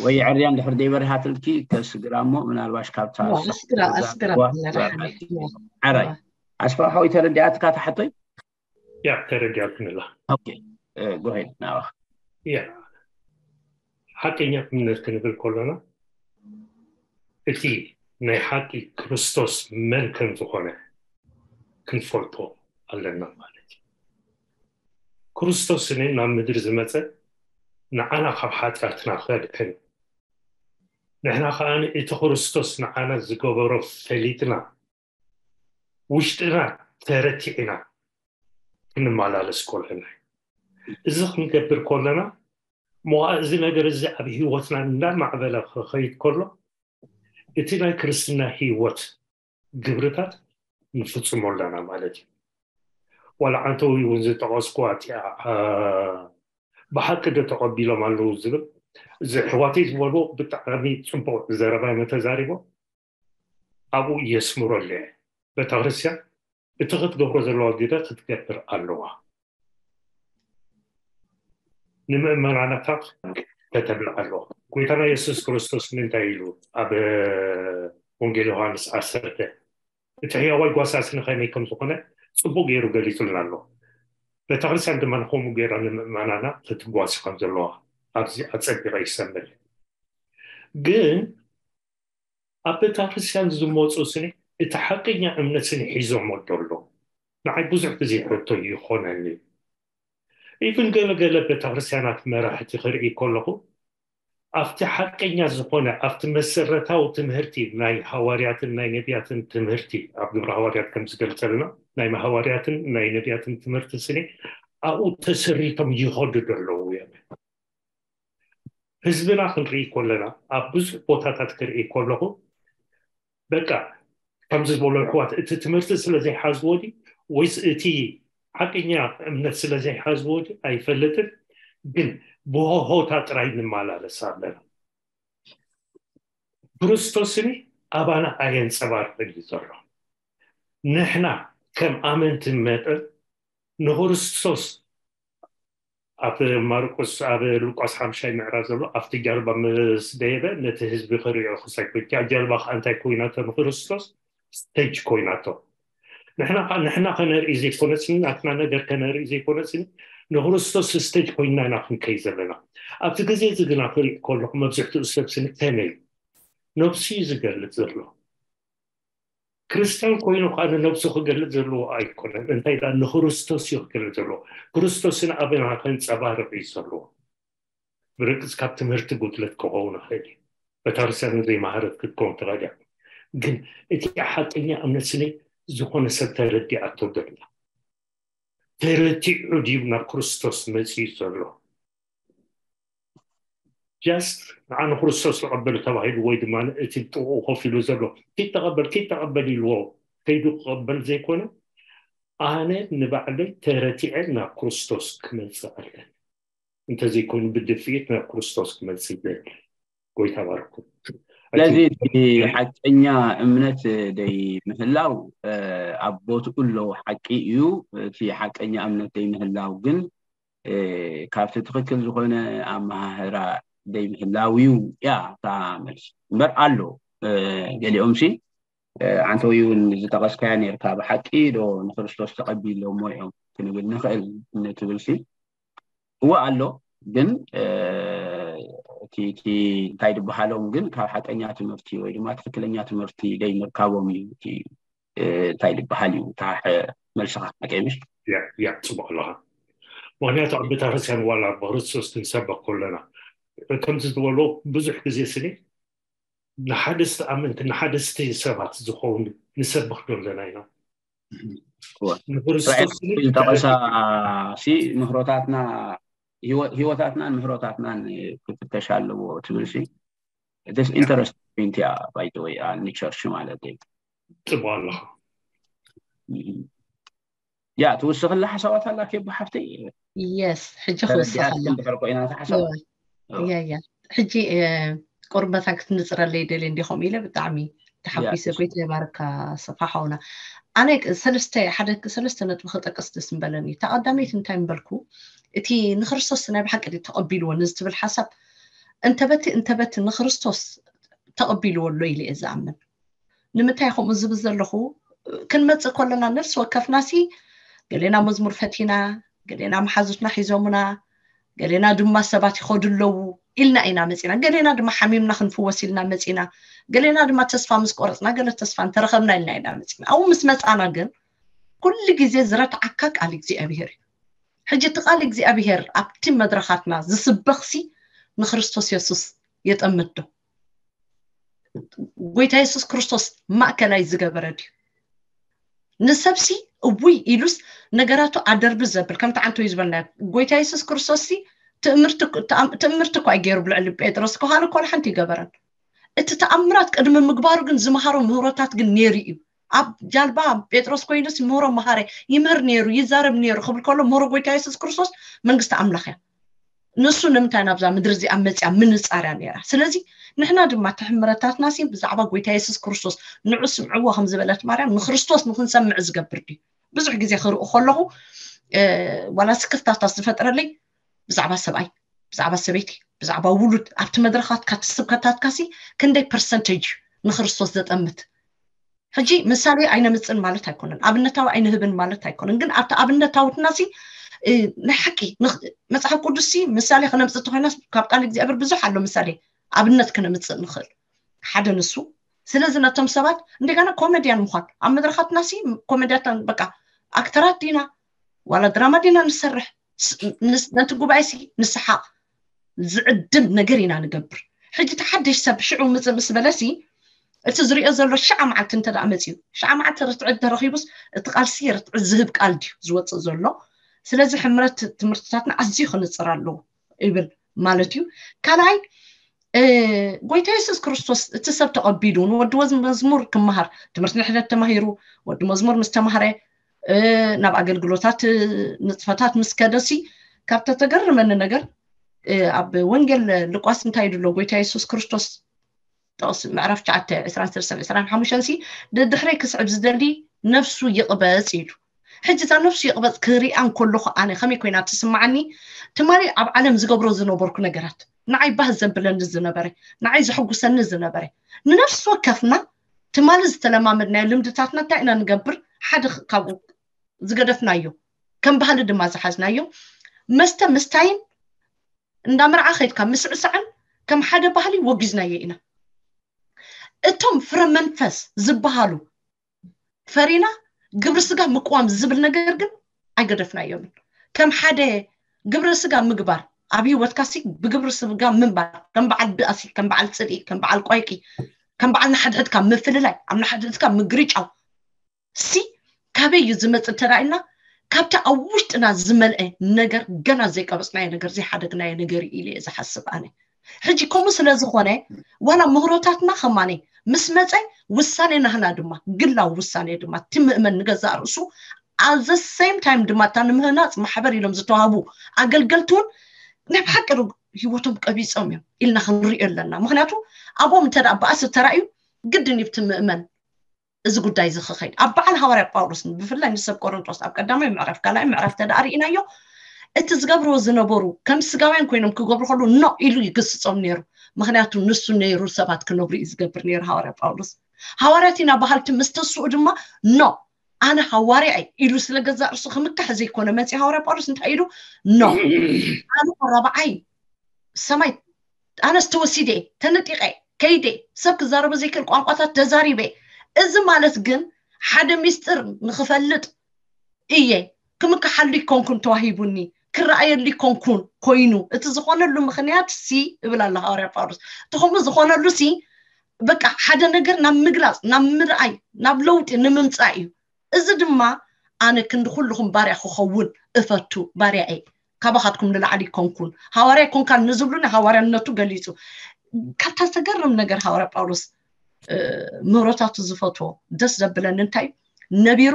ወይ ዕርያ እንድሕር ደይ በሪሃትልኪ ከስግራ እሞ ምናልባሽ ካብታ ኣስግራ ኣስግራ ዓራይ ኣስፋ ሓወይ ተረዲኣትካ ታሕቶይ ያ ተረዲኣትንላ ጎሄድ ናባኻ ያ ሓቀኛ እምነት ክንብል ከለና እቲ ናይ ሓቂ ክርስቶስ መን ከም ዝኾነ ክንፈልጦ ኣለና ማለት እዩ። ክርስቶስ እኔ ናብ ምድሪ ዝመፀ ንዓና ካብ ሓጢኣትና ከድሕን ንሕና ከዓ እቲ ክርስቶስ ንዓና ዝገበሮ ፈሊጥና ውሽጥና ተረቲዕና ክንመላለስ ከለና እዚ ክንገብር ከለና መዋእ እዚ ነገር እዚ ኣብ ህይወትና እንዳማዕበለ ክኸይድ ከሎ እቲ ናይ ክርስትና ህይወት ግብርታት ንፍፅሞ ኣለና ማለት እዩ። ዋላ ዓንተዊ እውን ዝጠቐስኩዋ እቲኣ ብሓቂ ዶ ተቐቢሎም ኣለዉ ዝብል እዚ ኣሕዋተይ ዝበልዎ ብጣዕሚ ፅቡቅ ዘረባ እዮም ተዛሪቦም። ኣብኡ የስምረሉ እየ። ቤተክርስትያን እቲ ክትገብሮ ዘለዋ ግደ ክትገብር ኣለዋ። ንምእመናናታ ከተብልዕ ኣለዋ። ጎይታና የሱስ ክርስቶስ እንታይ ኢሉ ኣብ ወንጌል ዮሃንስ ዓሰርተ እቲ ሕያዋይ ጓሳሲ ንኸመይ ከም ዝኾነ ፅቡቅ ገይሩ ገሊፁልና ኣሎ። ቤተክርስትያን ድማ ንከምኡ ገይራ ንምእመናና ክትጓሲ ከም ዘለዋ ኣብዚ ኣፀቢቐ ይሰምር። ግን ኣብ ቤተክርስትያን ዝመፁ ስኒ እቲ ሓቀኛ እምነት ስኒ ሒዞሞ ደሎ ንዓይ ብዙሕ ግዜ ሕቶ ይኾነኒ። ኢቭን ገለገለ ቤተክርስትያናት መራሕቲ ክርኢ ከለኹ ኣብቲ ሓቀኛ ዝኾነ ኣብቲ መሰረታዊ ትምህርቲ ናይ ሃዋርያትን ናይ ነቢያትን ትምህርቲ ኣብ ግብረ ሃዋርያት ከም ዝገልፀልና ናይ ሃዋርያትን ናይ ነቢያትን ትምህርቲ ስኒ ኣብኡ ተሰሪቶም ይኸዱ ደለዉ እዮም። ህዝብና ክንርኢ ከለና ኣብ ብዙሕ ቦታታት ክርኢ ከለኹ በቃ ከምዚ ዝበሎ ኣሕዋት እቲ ትምህርቲ ስለ ዘይሓዝዎ ድዩ ወይስ እቲ ሓቀኛ እምነት ስለ ዘይሓዝዎ ድዩ ኣይፈልጥን። ግን ብሆሆታ ጥራይ ንመላለስ ኣለና። ክርስቶስኒ ኣባና ኣየንፀባርቅን እዩ ዘሎ። ንሕና ከም ኣመንቲ መጠን ንክርስቶስ ኣብ ማርቆስ ኣብ ሉቃስ ሓምሻይ ምዕራፍ ዘሎ ኣብቲ ጃልባ ምስ ደየበ ነቲ ህዝቢ ክሪኦ ክሳይ ኮይንካ ጃልባ ከዓ እንታይ ኮይናቶ ንክርስቶስ ስቴጅ ኮይናቶ። ንሕና ከዓ ንሕና ከነርኢ ዘይኮነስኒ ናትና ነገር ከነርኢ ዘይኮነስኒ ንክርስቶስ ስቴጅ ኮይንና ኢና ክንከይ ዘለና። ኣብቲ ግዜ እዚ ግና ክሪእ ከለኹ መብዝሕትኡ ሰብ ስኒ ከመይ ነብሱ እዩ ዝገልፅ ዘሎ። ክርስትያን ኮይኑ ከዓ ንነብሱ ክገልፅ ዘለዎ ኣይኮነን። እንታይ ዳ ንክርስቶስ እዩ ክገልፅ ዘለዎ። ክርስቶስን ኣበና ከንፀባርቕ እዩ ዘለዎ። ብርግጽ ካብ ትምህርቲ ጉድለት ክኸውን ይኽእል እዩ። ቤተክርስትያን ዘይመሃረት ክትከውን ትኽእል እያ። ግን እቲ ሓቀኛ እምነት ስለ ዝኾነ ሰብ ተረዲኣቶ ዘላ፣ ተረቲዑ ድዩ ናብ ክርስቶስ መጺኡ ዘሎ? ጃስት ንዓ ንክርስቶስ ተቐበል ተባሂሉ ወይ ድማ እቲ ጥቕኡ ኮፍ ኢሉ ዘሎ ኪድ ተቐበል ኪድ ተቐበል ኢልዎ ከይዱ ክቐበል ዘይኮነ፣ ኣነ ንባዕለይ ተረቲዐ ናብ ክርስቶስ ክመጽእ ኣለኒ፣ እንተዘይኮይኑ ብድፍኢት ናብ ክርስቶስ ክመጽእ ይደሊ። ጎይታ ባርኩም። ስለዚ እቲ ሓቀኛ እምነት ደይ ምህላው ኣብ ቦትኡ ኣለዎ ሓቂ እዩ። እቲ ሓቀኛ እምነት ደይ ምህላው ግን ካብቲ ትኽክል ዝኾነ ኣመሃህራ ደይ ምህላው እዩ እያ እታ መልሲ። እምበር ኣሎ ገሊኦም ሲ ዓንተዊ እውን ዝጠቐስካያ ነርካ ብሓቂ ዶ ንክርስቶስ ተቐቢሎሞ እዮም ክንብል ንኽእል ንትብል ሲ እወ ኣሎ። ግን እቲ እንታይ ዝበሃሎም ግን ካብ ሓቀኛ ትምህርቲ ወይ ድማ ትኽክለኛ ትምህርቲ ደይ ምርካቦም እዩ እቲ እንታይ ዝበሃል እዩ እታ መልስኻ ሓቀይ ምሽ? ያ ጽቡቕ ኣለኻ። ምክንያቱ ኣብ ቤተክርስትያን ዋላ ብክርስቶስ ክንሰበክ ከለና ከምዚ ዝበሎ ብዙሕ ግዜ ስኒ ንሓደስቲ ኣመንቲ ንሓደስቲ ሰባት ዝኸውን ንሰብኽ ዶ ኣለና ኢና። ዝጠቐሳ ሲ ምህሮታትና ህይወታትናን ምህሮታትናን ክፍተሽ ኣለዎ ትብል ሲ ኢንተረስት ፖይንት እያ። ባይተወይ ንቸርች ማለት እዩ። ጽቡቕ ኣለኻ። ያ ትውስኽላ ሓሳባት ኣላ ኬቦ ሓፍተይ? የስ ሕጂ ክውስኸላ እንድሕር ኮይና ሓሳብ ያ ያ ሕጂ ቁርበታ ክትንፅረለይ ደልየ እንዲኹም ኢለ ብጣዕሚ ተሓጒሰ። ጎይታ ይባርካ ሰፋ ሓውና። ኣነ ሰለስተ ሓደ ሰለስተ ነጥቢ ክጠቅስ ደስ ምበለኒ። እታ ቀዳመይቲ እንታይ ምበልኩ፣ እቲ ንክርስቶስ ናይ ብሓቂ ድዩ ተቐቢልዎ ንዝትብል ሓሳብ እንተበቲ እንተበቲ ንክርስቶስ ተቐቢልዎ ኣሎ ኢለ እየ ዝኣምን። ንምንታይ ከምኡ ዝብል ዘለኹ፣ ክንመፅእ ከለና ነፍሲ ወከፍናሲ ገሌና መዝሙር ፈቲና፣ ገሌና መሓዙትና ሒዞምና፣ ገሌና ድማ ሰባት ይኸዱ ኣለዉ ኢልና ኢና መፂና፣ ገሌና ድማ ሓሚምና ክንፍወስ ኢልና መፂና፣ ገሌና ድማ ተስፋ ምስ ቆረፅና ገለ ተስፋ እንተረኸብና ኢልና ኢና መፂና። ኣብኡ ምስ መፃና ግን ኩሉ ግዜ ዝረትዓካ ቃል እግዚኣብሄር እዩ። ሕጂ እቲ ቃል እግዚኣብሄር ኣብቲ መድረኻትና ዝስበኽሲ ንክርስቶስ የሱስ የጠምት ዶ? ጎይታ የሱስ ክርስቶስ ማእከላይ ዝገበረ ድዩ? ንሰብሲ እውይ ኢሉስ ነገራቱ ኣደርቢ ዘብል ከምቲ ዓንቶ እዩ ዝበልና። ጎይታ የሱስ ክርስቶስ ሲ ትእምርቲ እኳ ኣይገይሩ ብልዕሊ ጴጥሮስ ከሃን እኳ ሓንቲ ይገበረን። እቲ ተኣምራት ቅድሚ ምግባሩ ግን ዝመሃሮ ምህሮታት ግን ነይሩ እዩ። ኣብ ጃልባ ጴጥሮስ ኮይኑስ ምህሮ መሃረ ይምህር ነይሩ ይዛረብ ነይሩ ክብል ከሎ ምህሮ ጎይታ የሱስ ክርስቶስ መንግስቲ ኣምላኽ እያ። ንሱ ንምንታይ ናብዛ ምድሪ እዚኣ መፅያ ምንፃር እያ ነይራ። ስለዚ ንሕና ድማ እቲ ሕምረታትና ሲ ብዛዕባ ጎይታ የሱስ ክርስቶስ ንዑ ስምዕዎ ከም ዝበለት ማርያም ንክርስቶስ ንክንሰምዕ ዝገብር ድዩ? ብዙሕ ግዜ ክርኢ ከለኹ ዋላ ስክፍታታት ዝፈጥረለይ ብዛዕባ ሰብኣይ፣ ብዛዕባ ሰበይቲ፣ ብዛዕባ ውሉድ ኣብቲ መድረኻትካ እቲ ስብከታትካ ሲ ክንደይ ፐርሰንቴጅ ንክርስቶስ ዘጠምት? ሕጂ ምሳሌ ኣይነምፅን ማለት ኣይኮነን፣ ኣብነታዊ ኣይንህብን ማለት ኣይኮነን። ግን ኣብቲ ኣብነታውትና ሲ ናይ ሓቂ መፅሓፍ ቅዱስ ሲ ምሳሌ ክነምፅእ እንተኮይና ካብ ቃል እግዚኣብሔር ብዙሕ ኣሎ ምሳሌ ኣብነት ክነምፅእ ንኽእል። ሓደ ንሱ። ስለዚ ነቶም ሰባት እንደገና ኮሜድያን ምኳን ኣብ መድረኻትና ሲ ኮሜድያታን በቃ ኣክተራት ዲና ዋላ ድራማ ዲና ንሰርሕ፣ ነቲ ጉባኤ ሲ ንስሓቕ ዝዕድም ነገር ኢና ንገብር። ሕጂ ተሓደሽ ሰብ ሽዑ ምፅእ ምስ በለሲ እቲ ዝሪኦ ዘሎ ሸዓ መዓልቲ እንተ ደኣ መፅዩ ሸዓ መዓልቲ ርትዒ እንተረኺቡስ እቲ ቃልሲ ርትዒ ዝህብ ቃል ድዩ ዝወፅእ ዘሎ? ስለዚ ሕምረት ትምህርትታትና ኣዝዩ ክንፅር ኣለዎ ይብል ማለት እዩ። ካልኣይ ጎይታ የሱስ ክርስቶስ እቲ ሰብ ተቐቢሉ ንወዲ መዝሙር ክመሃር ትምህርቲ ንሕነት ተማሂሩ ወዲ መዝሙር ምስ ተማህረ ናብ ኣገልግሎታት ንጥፈታት ምስ ከደሲ ካብ ተተገርመኒ ነገር ኣብ ወንጌል ሉቃስ እንታይ ድሎ ጎይታ የሱስ ክርስቶስ ጥቕስ ምዕራፍ ትሽዓተ ዕስራን ሰለስተን ዕስራን ሓሙሽተን ሲ ድድሕረይ ክስዕብ ዝደሊ ነፍሱ ይቕበጽ ኢሉ። ሕጂ እዛ ነፍሱ ይቕበጽ ክሪኣ እንከለኹ ኣነ ከመይ ኮይና ትስምዓኒ? ትማሊ ኣብ ዓለም ዝገብሮ ዝነበርኩ ነገራት ንዓይ ባህ ዘብለኒ ዝነበረ ንዓይ ዘሐጉሰኒ ዝነበረ ንነፍሲ ወከፍና ትማሊ ዝተለማመድናዮ ልምድታትና እንታይ ኢና ንገብር? ሓደ ካብኡ ዝገደፍናዮ ከም ባህሊ ድማ ዝሓዝናዮ መስተ ምስታይን እንዳ መርዓ ከይድካ ምስዕሳዕን ከም ሓደ ባህሊ ወጊዝናዮ ኢና። እቶም ፍረ መንፈስ ዝበሃሉ ፈሪና ግብሪ ስጋ ምቅዋም ዝብል ነገር ግን ኣይገደፍናዮምን። ከም ሓደ ግብረ ስጋ ምግባር ኣብ ህይወትካ ሲ ብግብሪ ስጋ ምንባር፣ ከም በዓል ብኣሲ፣ ከም በዓል ፅልኢ፣ ከም በዓል ቆይቂ፣ ከም በዓል ንሓድሕድካ ምፍልላይ፣ ኣብ ንሓድሕድካ ምግርጫው ሲ ካበይ እዩ ዝመፅእ እንተ ኢልና፣ ካብቲ ኣብ ውሽጥና ዝመልአ ነገር፣ ገና ዘይቀበፅናዮ ነገር፣ ዘይሓደግናዮ ነገር እዩ ኢለ እየ ዝሓስብ ኣነ። ሕጂ ከምኡ ስለ ዝኾነ፣ ዋላ ምህሮታትና ከማኒ ምስ መፀ፣ ውሳኔ ናህና ድማ፣ ግላዊ ውሳኔ ድማ፣ እቲ ምእመን ንገዛእ ርእሱ፣ at the same time ድማ እታ ንምህናፅ ማሕበር ኢሎም ዝተዋህቡ ኣገልገልቲ እውን ናይ ብሓቂ ዶ ህይወቶም ቀቢፆም እዮም ኢልና ክንሪኦ ኣለና። ምክንያቱ ኣብኦም እንተ ደኣ በኣሲ ተራእዩ፣ ግድን እዩ እቲ ምእመን እዚ ጉዳይ እዚ ክኸይድ። ኣብ በዓል ሃዋርያ ጳውሎስ፣ ብፍላይ ንሰብ ቆሮንጦስ፣ ኣብ ቀዳማይ ምዕራፍ፣ ካልኣይ ምዕራፍ ተደኣ ርኢናዮ፣ እቲ ዝገብርዎ ዝነበሩ ከም ስጋውያን ኮይኖም ክገብሩ ከለዉ ኖ ኢሉ ይግስጾም ነይሩ። ምክንያቱ ንሱ ነይሩ ሰባት ክነብሩ እዩ ዝገብር ነይሩ ሃዋርያ ጳውሎስ። ሃዋርያት ኢና በሃልቲ ምስ ተስኡ ድማ ኖ፣ ኣነ ሃዋርያ እየ ኢሉ ስለ ገዛእ ርእሱ ክምካሕ ዘይኮነ መፂ ሃዋርያ ጳውሎስ እንታይ ኢሉ? ኖ፣ ኣነ ቆራብዓይ ሰማይ፣ ኣነስ ተወሲደ፣ ተነጢቐ፣ ከይደ፣ ሰብ ክዛረቦ ዘይክእል ቋንቋታት ተዛሪበ። እዚ ማለት ግን ሓደ ሚስጥር ንክፈልጥ እየ፣ ክምክሓሉ ይኮንኩን ተዋሂቡኒ፣ ክረኣየሉ ይኮንኩን ኮይኑ። እቲ ዝኾነሉ ምክንያት ሲ እብል ኣሎ ሃዋርያ ጳውሎስ። እቲ ከምኡ ዝኾነሉ ሲ በቃ ሓደ ነገር ናብ ምግላፅ፣ ናብ ምርኣይ፣ ናብ ለውጢ ንምምፃእ እዩ። እዚ ድማ ኣነ ክንዲ ኩልኹም ባርያ ክኸውን እፈቱ፣ ባርያ እየ። ካባኻትኩም ንላዕሊ ይኮንኩን። ሃዋርያ ይኮንካን ንዝብሉኒ ሃዋርያነቱ ገሊጹ። ካብታ ዘገርም ነገር ሃዋርያ ጳውሎስ ምህሮታቱ ዝፈትዎ ደስ ዘብለኒ እንታይ እዩ? ነቢሩ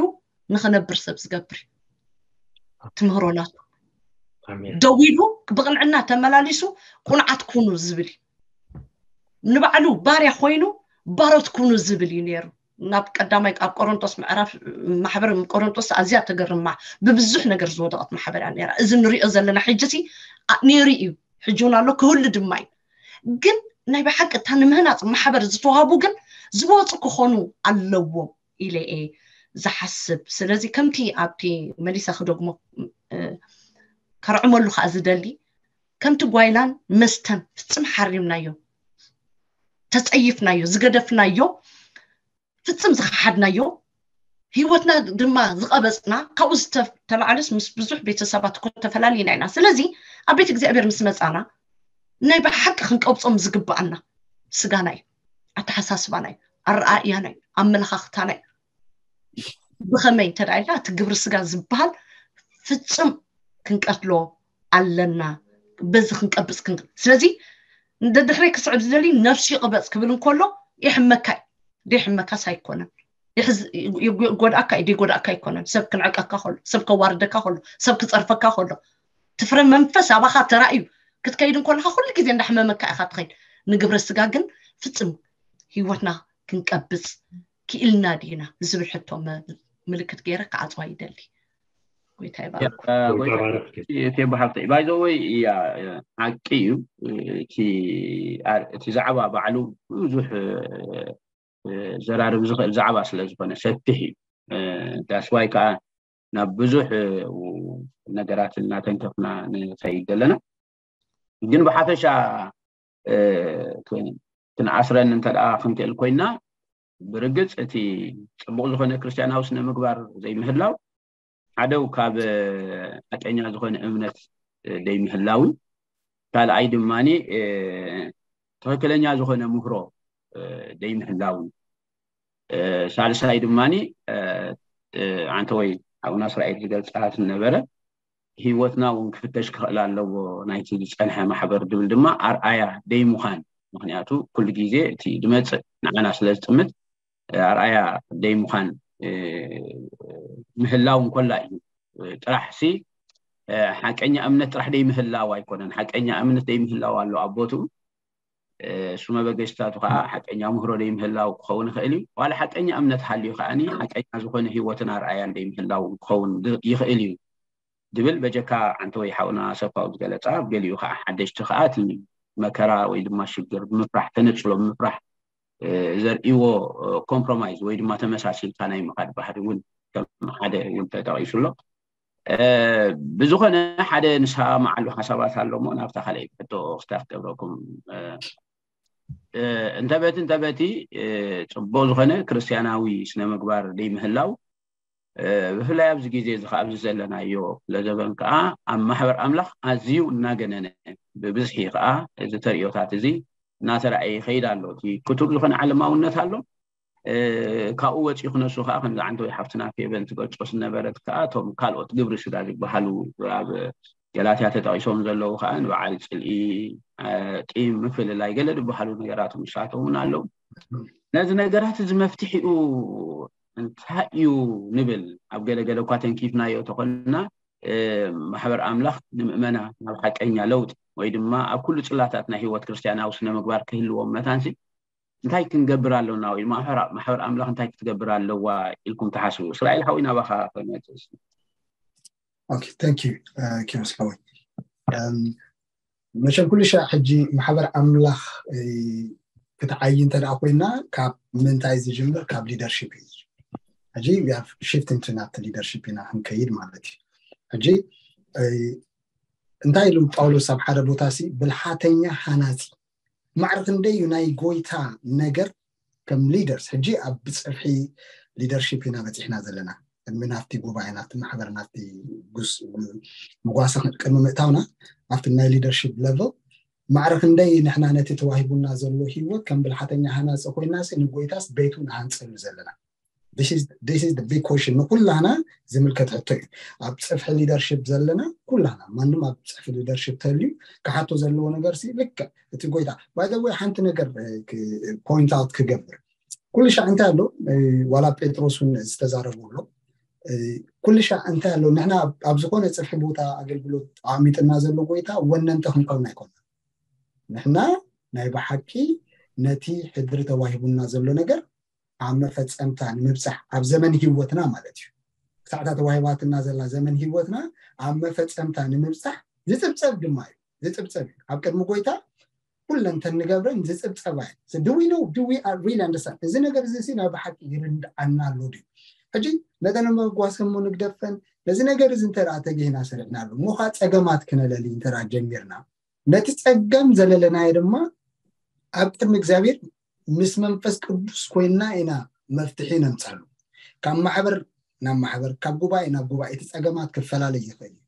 ንኽነብር ሰብ ዝገብር እዩ። ትምህሮ ናቱ ደው ኢሉ ብቕንዕና ተመላሊሱ ቁንዓት ኩኑ ዝብል እዩ። ንባዕሉ ባርያ ኮይኑ ባሮት ኩኑ ዝብል እዩ ነይሩ። ናብ ቀዳማይ ኣብ ቆሮንቶስ ምዕራፍ ማሕበር ቆሮንቶስ ኣዝያ ተገርማ ብብዙሕ ነገር ዝወደቐት ማሕበር እያ ነይራ። እዚ ንሪኦ ዘለና ሕጂ ሲ ነይሩ እዩ፣ ሕጂ እውን ኣሎ፣ ክህሉ ድማ እዩ። ግን ናይ ብሓቂ እታ ንምህናፅ ማሕበር ዝተዋህቡ ግን ዝወፁ ክኾኑ ኣለዎም ኢለ እየ ዝሓስብ። ስለዚ ከምቲ ኣብቲ መሊሳ ክደግሞ ከርዕመሉ ከዓ ዝደሊ ከምቲ ጓይላን መስተን ፍፅም ሓሪምናዮ፣ ተፀይፍናዮ፣ ዝገደፍናዮ፣ ፍፅም ዝኸሓድናዮ፣ ህይወትና ድማ ዝቐበፅና፣ ካብኡ ዝተላዓለስ ምስ ብዙሕ ቤተሰባት እኮ ተፈላሊና ኢና። ስለዚ ኣብ ቤት እግዚኣብሔር ምስ መፃና ናይ ብሓቂ ክንቀብፆም ዝግባኣና ስጋና እዩ፣ ኣተሓሳስባና እዩ፣ ኣረኣእያና እዩ፣ ኣመለኻኽታና እዩ። ብኸመይ እንተ ኢልና እቲ ግብሪ ስጋ ዝበሃል ፍፁም ክንቀትሎ ኣለና። በዚ ክንቀብፅ ክን ስለዚ ደድሕረይ ክስዕብ ዝደሊ ነፍሱ ይቕበፅ ክብል እንከሎ ይሕመካ እዩ። ደይሕመካስ ኣይኮነን። ይጎድኣካ እዩ ደይጎድኣካ ኣይኮነን። ሰብ ክንዕቀካ ከሎ፣ ሰብ ከዋርደካ ከሎ፣ ሰብ ክፀርፈካ ከሎ፣ ትፍረ መንፈስ ኣባኻ ተራእዩ ክትከይድ እንኮለካ ኩሉ ግዜ እንዳሕመመካ ኢኻ ትኸይድ። ንግብረ ስጋ ግን ፍፅም ህይወትና ክንቀብፅ ክኢልና ዲና ዝብል ሕቶ ምልክት ገይረ ክዓፅዋ ይደሊ። ጎይታ ይባርክ። ቴቦ ሓፍተይ ባይዘወይ እያ ሓቂ እዩ። እቲ ዛዕባ ባዕሉ ብዙሕ ዘራርብ ዝኽእል ዛዕባ ስለ ዝኾነ ሰፊሕ እዩ። ዳስዋይ ከዓ ናብ ብዙሕ ነገራት እናተንከፍና ንኸይድ ዘለና ግን ብሓፈሻ ክንኣስረን እንተ ደኣ ክንክእል ኮይና ብርግፅ እቲ ፅቡቅ ዝኾነ ክርስትያናዊ ስነ ምግባር ዘይምህላው ሓደው ካብ ሓቀኛ ዝኾነ እምነት ዘይምህላውን ካልኣይ ድማ ትኽክለኛ ዝኾነ ምህሮ ዘይምህላውን ሳልሳይ ድማ ኣንተ ወይ ኣቡና እስራኤል ዝገልፃት ነበረ ህይወትና እውን ክፍተሽ ክኽእል ኣለዎ ናይቲ ዝፀንሐ ማሕበር ድብል ድማ ኣርኣያ ደይምዃን ምክንያቱ ኩሉ ግዜ እቲ ድመፅእ ንዓና ስለ ዝጥምት ኣርኣያ ደይምዃን ምህላው እንኮላ እዩ ጥራሕ ሲ ሓቀኛ እምነት ጥራሕ ደይምህላው ኣይኮነን ሓቀኛ እምነት ደይምህላው ኣሎ ኣብ ቦትኡ እሱ መበገሽታቱ ከዓ ሓቀኛ ምህሮ ደይምህላው ክኸውን ይኽእል እዩ ዋላ ሓቀኛ እምነት ሃልዩ ከዓ ሓቀኛ ዝኾነ ህይወትን ኣርኣያን ደይምህላው ክኸውን ይኽእል እዩ ድብል በጀካ ዓንተ ወይ ሓውና ሰብካዊ ዝገለፃ ገሊኡ ከዓ ሓደሽቲ ከዓ እቲ መከራ ወይ ድማ ሽግር ብምፍራሕ ተነፅሎ ብምፍራሕ ዘርእዎ ኮምፕሮማይዝ ወይ ድማ ተመሳሲልካ ናይ ምኻድ ባህሪ እውን ከም ሓደ እውን ተጠቂሱ ኣሎ ብዝኾነ ሓደ ንስማማዓሉ ሓሳባት ኣሎ እሞ ናብታ ካልኣይ ሕቶ ክስታፍ ገብረኩም እንተበቲ እንተበቲ ፅቡቅ ዝኾነ ክርስትያናዊ ስነ ምግባር ደይምህላው ብፍላይ ኣብዚ ግዜ እዚ ከዓ ኣብዚ ዘለናዮ ክፍለ ዘበን ከዓ ኣብ ማሕበር ኣምላኽ ኣዝዩ እናገነነ፣ ብብዝሒ ከዓ እዚ ተርእዮታት እዚ እናተረኣየ ይኸይድ ኣሎ። እቲ ክቱር ዝኾነ ዓለማውነት ኣሎ። ካብኡ ወፂኡ ክነሱ ከዓ ከምዚ ዓንተወይ ሓፍትና ፌበን ትገልጾ ዝነበረት ከዓ እቶም ካልኦት ግብሪ ስጋ ዝበሃሉ ኣብ ገላትያ ተጠቂሶም ዘለዉ ከዓ ንበዓል ፅልኢ፣ ቂም፣ ምፍልላይ ገለ ዝበሃሉ ነገራት ንሳቶም እውን ኣለዉ። ነዚ ነገራት እዚ መፍትሒኡ እንታይ እዩ ንብል ኣብ ገለገለ እኳ ተንኪፍናዮ ተኾንና፣ ማሕበር ኣምላኽ ንምእመና ናብ ሓቀኛ ለውጢ ወይ ድማ ኣብ ኩሉ ጽላታት ናይ ህይወት ክርስትያናዊ ስነ ምግባር ክህልዎም መታንሲ እንታይ ክንገብር ኣለና ወይ ማሕበር ኣምላኽ እንታይ ክትገብር ኣለዋ ኢልኩም ትሓስቡ? እስራኤል ሓወይ ናባኻ ክመጽእ። ኦኬ፣ thank you ኪሮስ ሓወይ። መቸም ኩሉ ሻዕ ሕጂ ማሕበር ኣምላኽ ክትዓይ እንተ ደኣ ኮይና ካብ ምንታይ ዝጅምር? ካብ ሊደርሺፕ እዩ። ሕጂ ሽፍት into ናብቲ ሊደርሺፕ ኢና ክንከይድ ማለት እዩ። ሕጂ እንታይ ኢሉ ጳውሎስ ኣብ ሓደ ቦታ ሲ ብልሓተኛ ሃናጺ ማዕረ ክንደይ እዩ ናይ ጎይታ ነገር ከም ሊደርስ ሕጂ ኣብ ብፅፍሒ ሊደርሺፕ ኢና በፂሕና ዘለና። ቅድሚ ናብቲ ጉባኤ ናብቲ ማሕበር ናብቲ ጉስ ምጓሰ ቅድሚ ምእታውና ኣብቲ ናይ ሊደርሺፕ ለቨል ማዕረ ክንደይ ንሕና ነቲ ተዋሂቡና ዘሎ ህይወት ከም ብልሓተኛ ሃናፂ ኮይና ሲ ንጎይታስ ቤቱ ንሃንፀሉ ዘለና? This is the big question። ንኩላና ዝምልከት ሕቶ እዩ። ኣብ ፅፍሒ ሊደርሽፕ ዘለና ኩላና ማንም ኣብ ፅፍሒ ሊደርሽፕ ተልዩ ክሓቶ ዘለዎ ነገር ሲ ልክዕ እቲ ጎይታ ባይዘወይ ሓንቲ ነገር ፖይንት ኣውት ክገብር ኩሉ ሻዕ እንታይ ኣሎ ዋላ ጴጥሮስ እውን ዝተዛረቡ ኣሎ ኩሉ ሻዕ እንታይ ኣሎ ንሕና ኣብ ዝኾነ ፅፍሒ ቦታ ኣገልግሎት ኣሚጥና ዘሎ ጎይታ ወነንተ ክንከውን ኣይኮና ንሕና ናይ ብሓቂ ነቲ ሕድሪ ተዋሂቡና ዘሎ ነገር ኣብ መፈፀምታ ንምብፃሕ ኣብ ዘመን ህይወትና ማለት እዩ ክሳዕታ ተዋሂባትና ዘላ ዘመን ህይወትና ኣብ መፈፀምታ ንምብፃሕ ዝፅብፀብ ድማ እዩ ዝፅብፀብ እዩ ኣብ ቅድሚ ጎይታ ኩለን ተንገብረን ዝፅብፀባ እዩ ድዊ ነው ድዊ ሪል ኣንደርስታንድ እዚ ነገር እዚ ሲ ናይ ብሓቂ ይርድኣና ኣሎ ድዩ ሕጂ ነተን መጓሰሞ ንግደፈን ነዚ ነገር እዚ እንተደኣ ተገይና ሰሪሕና ኣሎ እሞ ከዓ ፀገማት ክነለሊ እንተደኣ ጀሚርና ነቲ ፀገም ዘለለናዮ ድማ ኣብ ቅድሚ እግዚኣብሔር ምስ መንፈስ ቅዱስ ኮይና ኢና መፍትሒ ነምፀሉ ካብ ማሕበር ናብ ማሕበር ካብ ጉባኤ ናብ ጉባኤ እቲ ፀገማት ክፈላለይ ይኽእል እዩ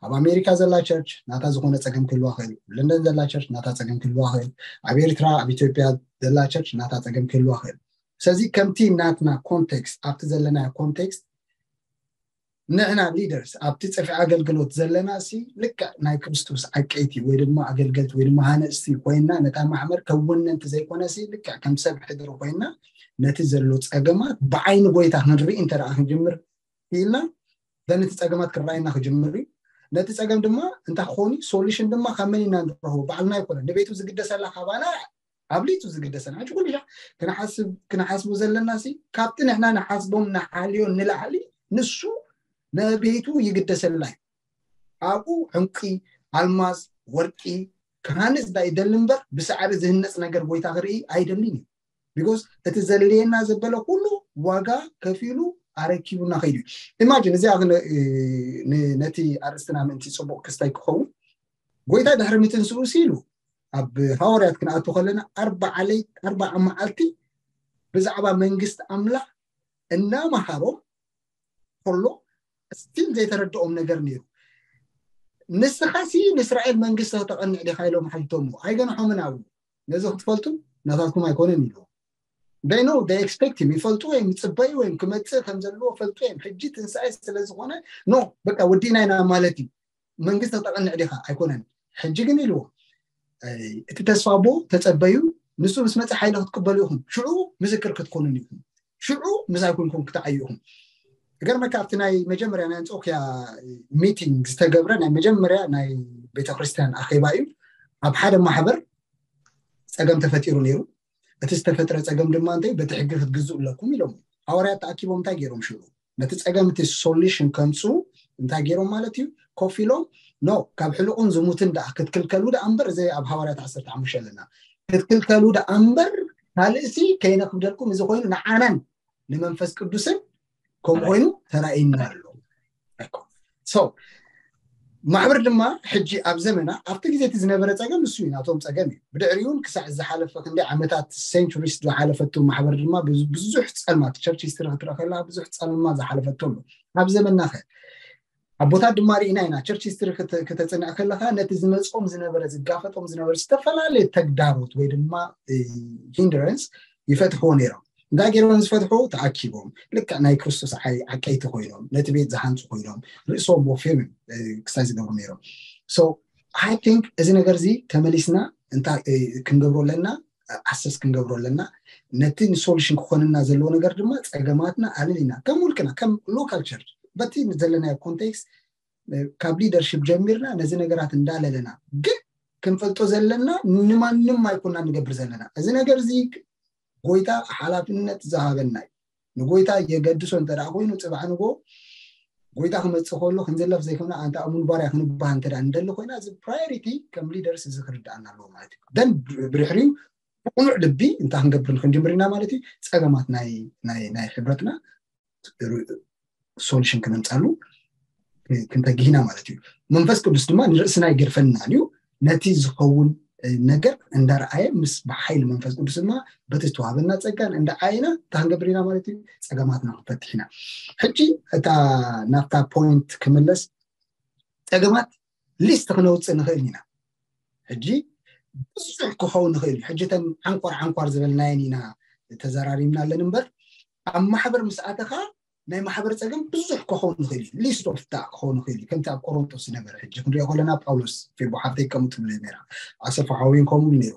ኣብ ኣሜሪካ ዘላ ቸርች ናታ ዝኾነ ፀገም ክህልዋ ክእል ለንደን ዘላ ቸርች ናታ ፀገም ክህልዋ ክእል ኣብ ኤርትራ ኣብ ኢትዮጵያ ዘላ ቸርች ናታ ፀገም ክህልዋ ክእል ስለዚ ከምቲ ናትና ኮንቴክስት ኣብቲ ዘለናዮ ኮንቴክስት ንሕና ሊደርስ ኣብቲ ፅፍሒ ኣገልግሎት ዘለና ሲ ልክዕ ናይ ክርስቶስ ዓቀይቲ ወይ ድማ ኣገልገልቲ ወይ ድማ ሃነፅቲ ኮይና ነታ ማሕበር ከም ወነንቲ ዘይኮነ ሲ ልክዕ ከም ሰብ ሕድሪ ኮይና ነቲ ዘሎ ፀገማት ብዓይኒ ጎይታ ክንርኢ እንተደኣ ክንጅምር ክኢልና ዘን እቲ ፀገማት ክረኣየና ክጅምር እዩ ነቲ ፀገም ድማ እንታይ ክኸውን እዩ ሶሉሽን ድማ ካብ መን ኢና ንረኽቦ ባዕልና ይኮነ ንቤቱ ዝግደሰላ ካባና ኣብሊቱ ዝግደሰና ሕጂ ኩሉ ሻዕ ክንሓስብ ክንሓስቡ ዘለና ሲ ካብቲ ንሕና ንሓስቦም ንሓልዮ ንላዕሊ ንሱ ነቤቱ ይግደሰላ እዩ ኣብኡ ዕንቂ ኣልማዝ ወርቂ ክሃንፅ ዳ ይደሊ እምበር ብሳዕሪ ዝህነፅ ነገር ጎይታ ክርኢ ኣይደልን እዩ ቢኮዝ እቲ ዘድልየና ዘበለ ኩሉ ዋጋ ከፊሉ ኣረኪቡና ከይዱ እዩ ኢማጂን እዚኣ ነቲ ኣርእስትና ምእንቲ ፅቡቅ ክስታይ ክኸውን ጎይታ ድሕሪ ምትንስኡ ሲሉ ኣብ ሃዋርያት ክንኣቱ ከለና ኣርባዓ ለይት ኣርባዓ መዓልቲ ብዛዕባ መንግስቲ ኣምላኽ እናመሃሮም ከሎ ስቲል ዘይተረድኦም ነገር ነይሩ ንስኻ ሲ ንእስራኤል መንግስቲ ከተቐንዕ ዲኻ ኢሎም ሓቲቶምዎ ኣይገንሖምን ኣብኡ ነዚ ክትፈልጡ ናታትኩም ኣይኮነን ኢልዎ they know they expect him ይፈልጡ እዮም ይፅበዩ እዮም ክመፅእ ከም ዘለዎ ፈልጡ እዮም ሕጂ ትንሳኤ ስለዝኾነ no በቃ ወዲእና ኢና ማለት እዩ መንግስቲ ክተቐንዕ ዲኻ ኣይኮነን ሕጂ ግን ኢልዎ እቲ ተስፋ ኣቦ ተፀበዩ ንሱ ምስ መፀ ሓይሊ ክትቅበሉ ኢኹም ሽዑ ምስክር ክትኮኑን ኢኹም ሽዑ ምሳይ ኮንኩም ክትዓዩ ኢኹም ገርመካ ኣብቲ ናይ መጀመርያ ናይ ኣንፆኪያ ሚቲንግ ዝተገብረ ናይ መጀመርያ ናይ ቤተክርስትያን ኣኼባ እዩ ኣብ ሓደ ማሕበር ፀገም ተፈጢሩ ነይሩ እቲ ዝተፈጥረ ፀገም ድማ እንታይ በቲ ሕጊ ክትግዝኡ ኣለኩም ኢሎም ሃዋርያት ተኣኪቦም እንታይ ገይሮም ሽዑ ነቲ ፀገም እቲ ሶሉሽን ከምፅኡ እንታይ ገይሮም ማለት እዩ ኮፍ ኢሎም ኖ ካብ ሕልቁን ዝሙትን ደኣ ክትክልከሉ ደኣ እምበር እዚ ኣብ ሃዋርያት ዓሰርተ ሓሙሽተ ኣለና ክትክልከሉ ደኣ እምበር ካልእሲ ከይነክብደልኩም እዚ ኮይኑ ንዓናን ንመንፈስ ቅዱስን ከምኡ ኮይኑ ተራእይና ኣሎ so ማሕበር ድማ ሕጂ ኣብ ዘመና ኣብቲ ግዜ እቲ ዝነበረ ፀገም እሱ እዩ፣ ናቶም ፀገም እዩ። ብድሕሪኡ እውን ክሳዕ ዝሓለፈ ክንደይ ዓመታት፣ ሴንቹሪስ ዝሓለፈቱ ማሕበር ድማ ብዙ- ብዙሕ ፀልማት፣ ቸርች ሂስትሪ ክትረአ ከለካ ብዙሕ ፀልማ ዝሓለፈቶ ኣሎ። ኣብ ዘመንና ከ ኣቦታት ድማ ርኢና ኢና። ቸርች ሂስትሪ ክተ- ክተፅንዕ ከለካ ነቲ ዝመፅኦም ዝነበረ፣ ዝጋፈጦም ዝነበረ ዝተፈላለየ ተግዳሮት ወይ ድማ ሂንድረንስ ይፈትሕዎ ነይሮም። እንታይ ገይሮም ዝፈትሑ? ተኣኪቦም ልክዕ ናይ ክርስቶስ ዓይ- ዓቀይቲ ኮይኖም፣ ነቲ ቤት ዝሃንፁ ኮይኖም፣ ርእሶም ወፊሮም ክሳይ ዝገብሩ ነይሮም። So I think እዚ ነገር እዚ ተመሊስና እንታይ ክንገብሮ ኣለና? ኣሰስ ክንገብሮ ኣለና። ነቲ ንሶሉሽን ክኾንና ዘለዎ ነገር ድማ ፀገማትና ኣለሊና ከም ውልቅና፣ ከም ሎካል ቸርች፣ በቲ ዘለናዮ ኮንቴክስት ካብ ሊደርሽፕ ጀሚርና ነዚ ነገራት እንዳለለና፣ ግን ክንፈልጦ ዘለና ንማንም ኣይኮና ንገብር ዘለና። እዚ ነገር እዚ ጎይታ ሓላፍነት ዝሃበና እዩ። ንጎይታ የገድሶ እንተ ደኣ ኮይኑ፣ ፅባሕ ንጎ ጎይታ ክመፅእ ከሎ ክንዝለፍ ዘይኮነ፣ ኣንታ እሙን ባርያ ክንበሃል እንተ ደኣ ንደሊ ኮይና፣ እዚ ፕራዮሪቲ ከም ሊደርስ እዚ ክርድኣና ኣለዎ ማለት እዩ። ደን ብድሕሪኡ ብቕኑዕ ልቢ እንታይ ክንገብር ክንጅምር ኢና ማለት እዩ። ፀገማት ናይ ናይ ናይ ሕብረትና ሶሉሽን ክነምፃሉ ክንተግህ ኢና ማለት እዩ። መንፈስ ቅዱስ ድማ ንርእስና ይገድፈናን እዩ። ነቲ ዝኸውን ነገር እንዳረኣየ ምስ ብሓይሊ መንፈስ ቅዱስ ድማ በቲ ዝተዋህበና ፀጋን እንዳዓየና እንታይ ክንገብር ኢና ማለት እዩ? ፀገማትና ክንፈትሕ ኢና። ሕጂ እታ ናብታ ፖይንት ክምለስ፣ ፀገማት ሊስት ክነውፅእ ንኽእል ኢና። ሕጂ ብዙሕ ክኸውን ንኽእል እዩ። ሕጂ እተን ዓንኳር ዓንኳር ዝበልናየን ኢና ተዘራሪብና ኣለን እምበር፣ ኣብ ማሕበር ምስ ኣተኻ ናይ ማሕበር ፀገም ብዙሕ ክኸውን ንኽእል እዩ። ሊስት ኦፍ ዳ ክኸውን ንኽእል እዩ። ከምቲ ኣብ ቆሮንቶስ ዝነበረ፣ ሕጂ ክንሪኦ ከለና ጳውሎስ፣ ፊልቦ ሓፍተይ ከምኡ ትብል ነይራ፣ ኣሰፋ ሓወይን ከምኡ ነይሩ።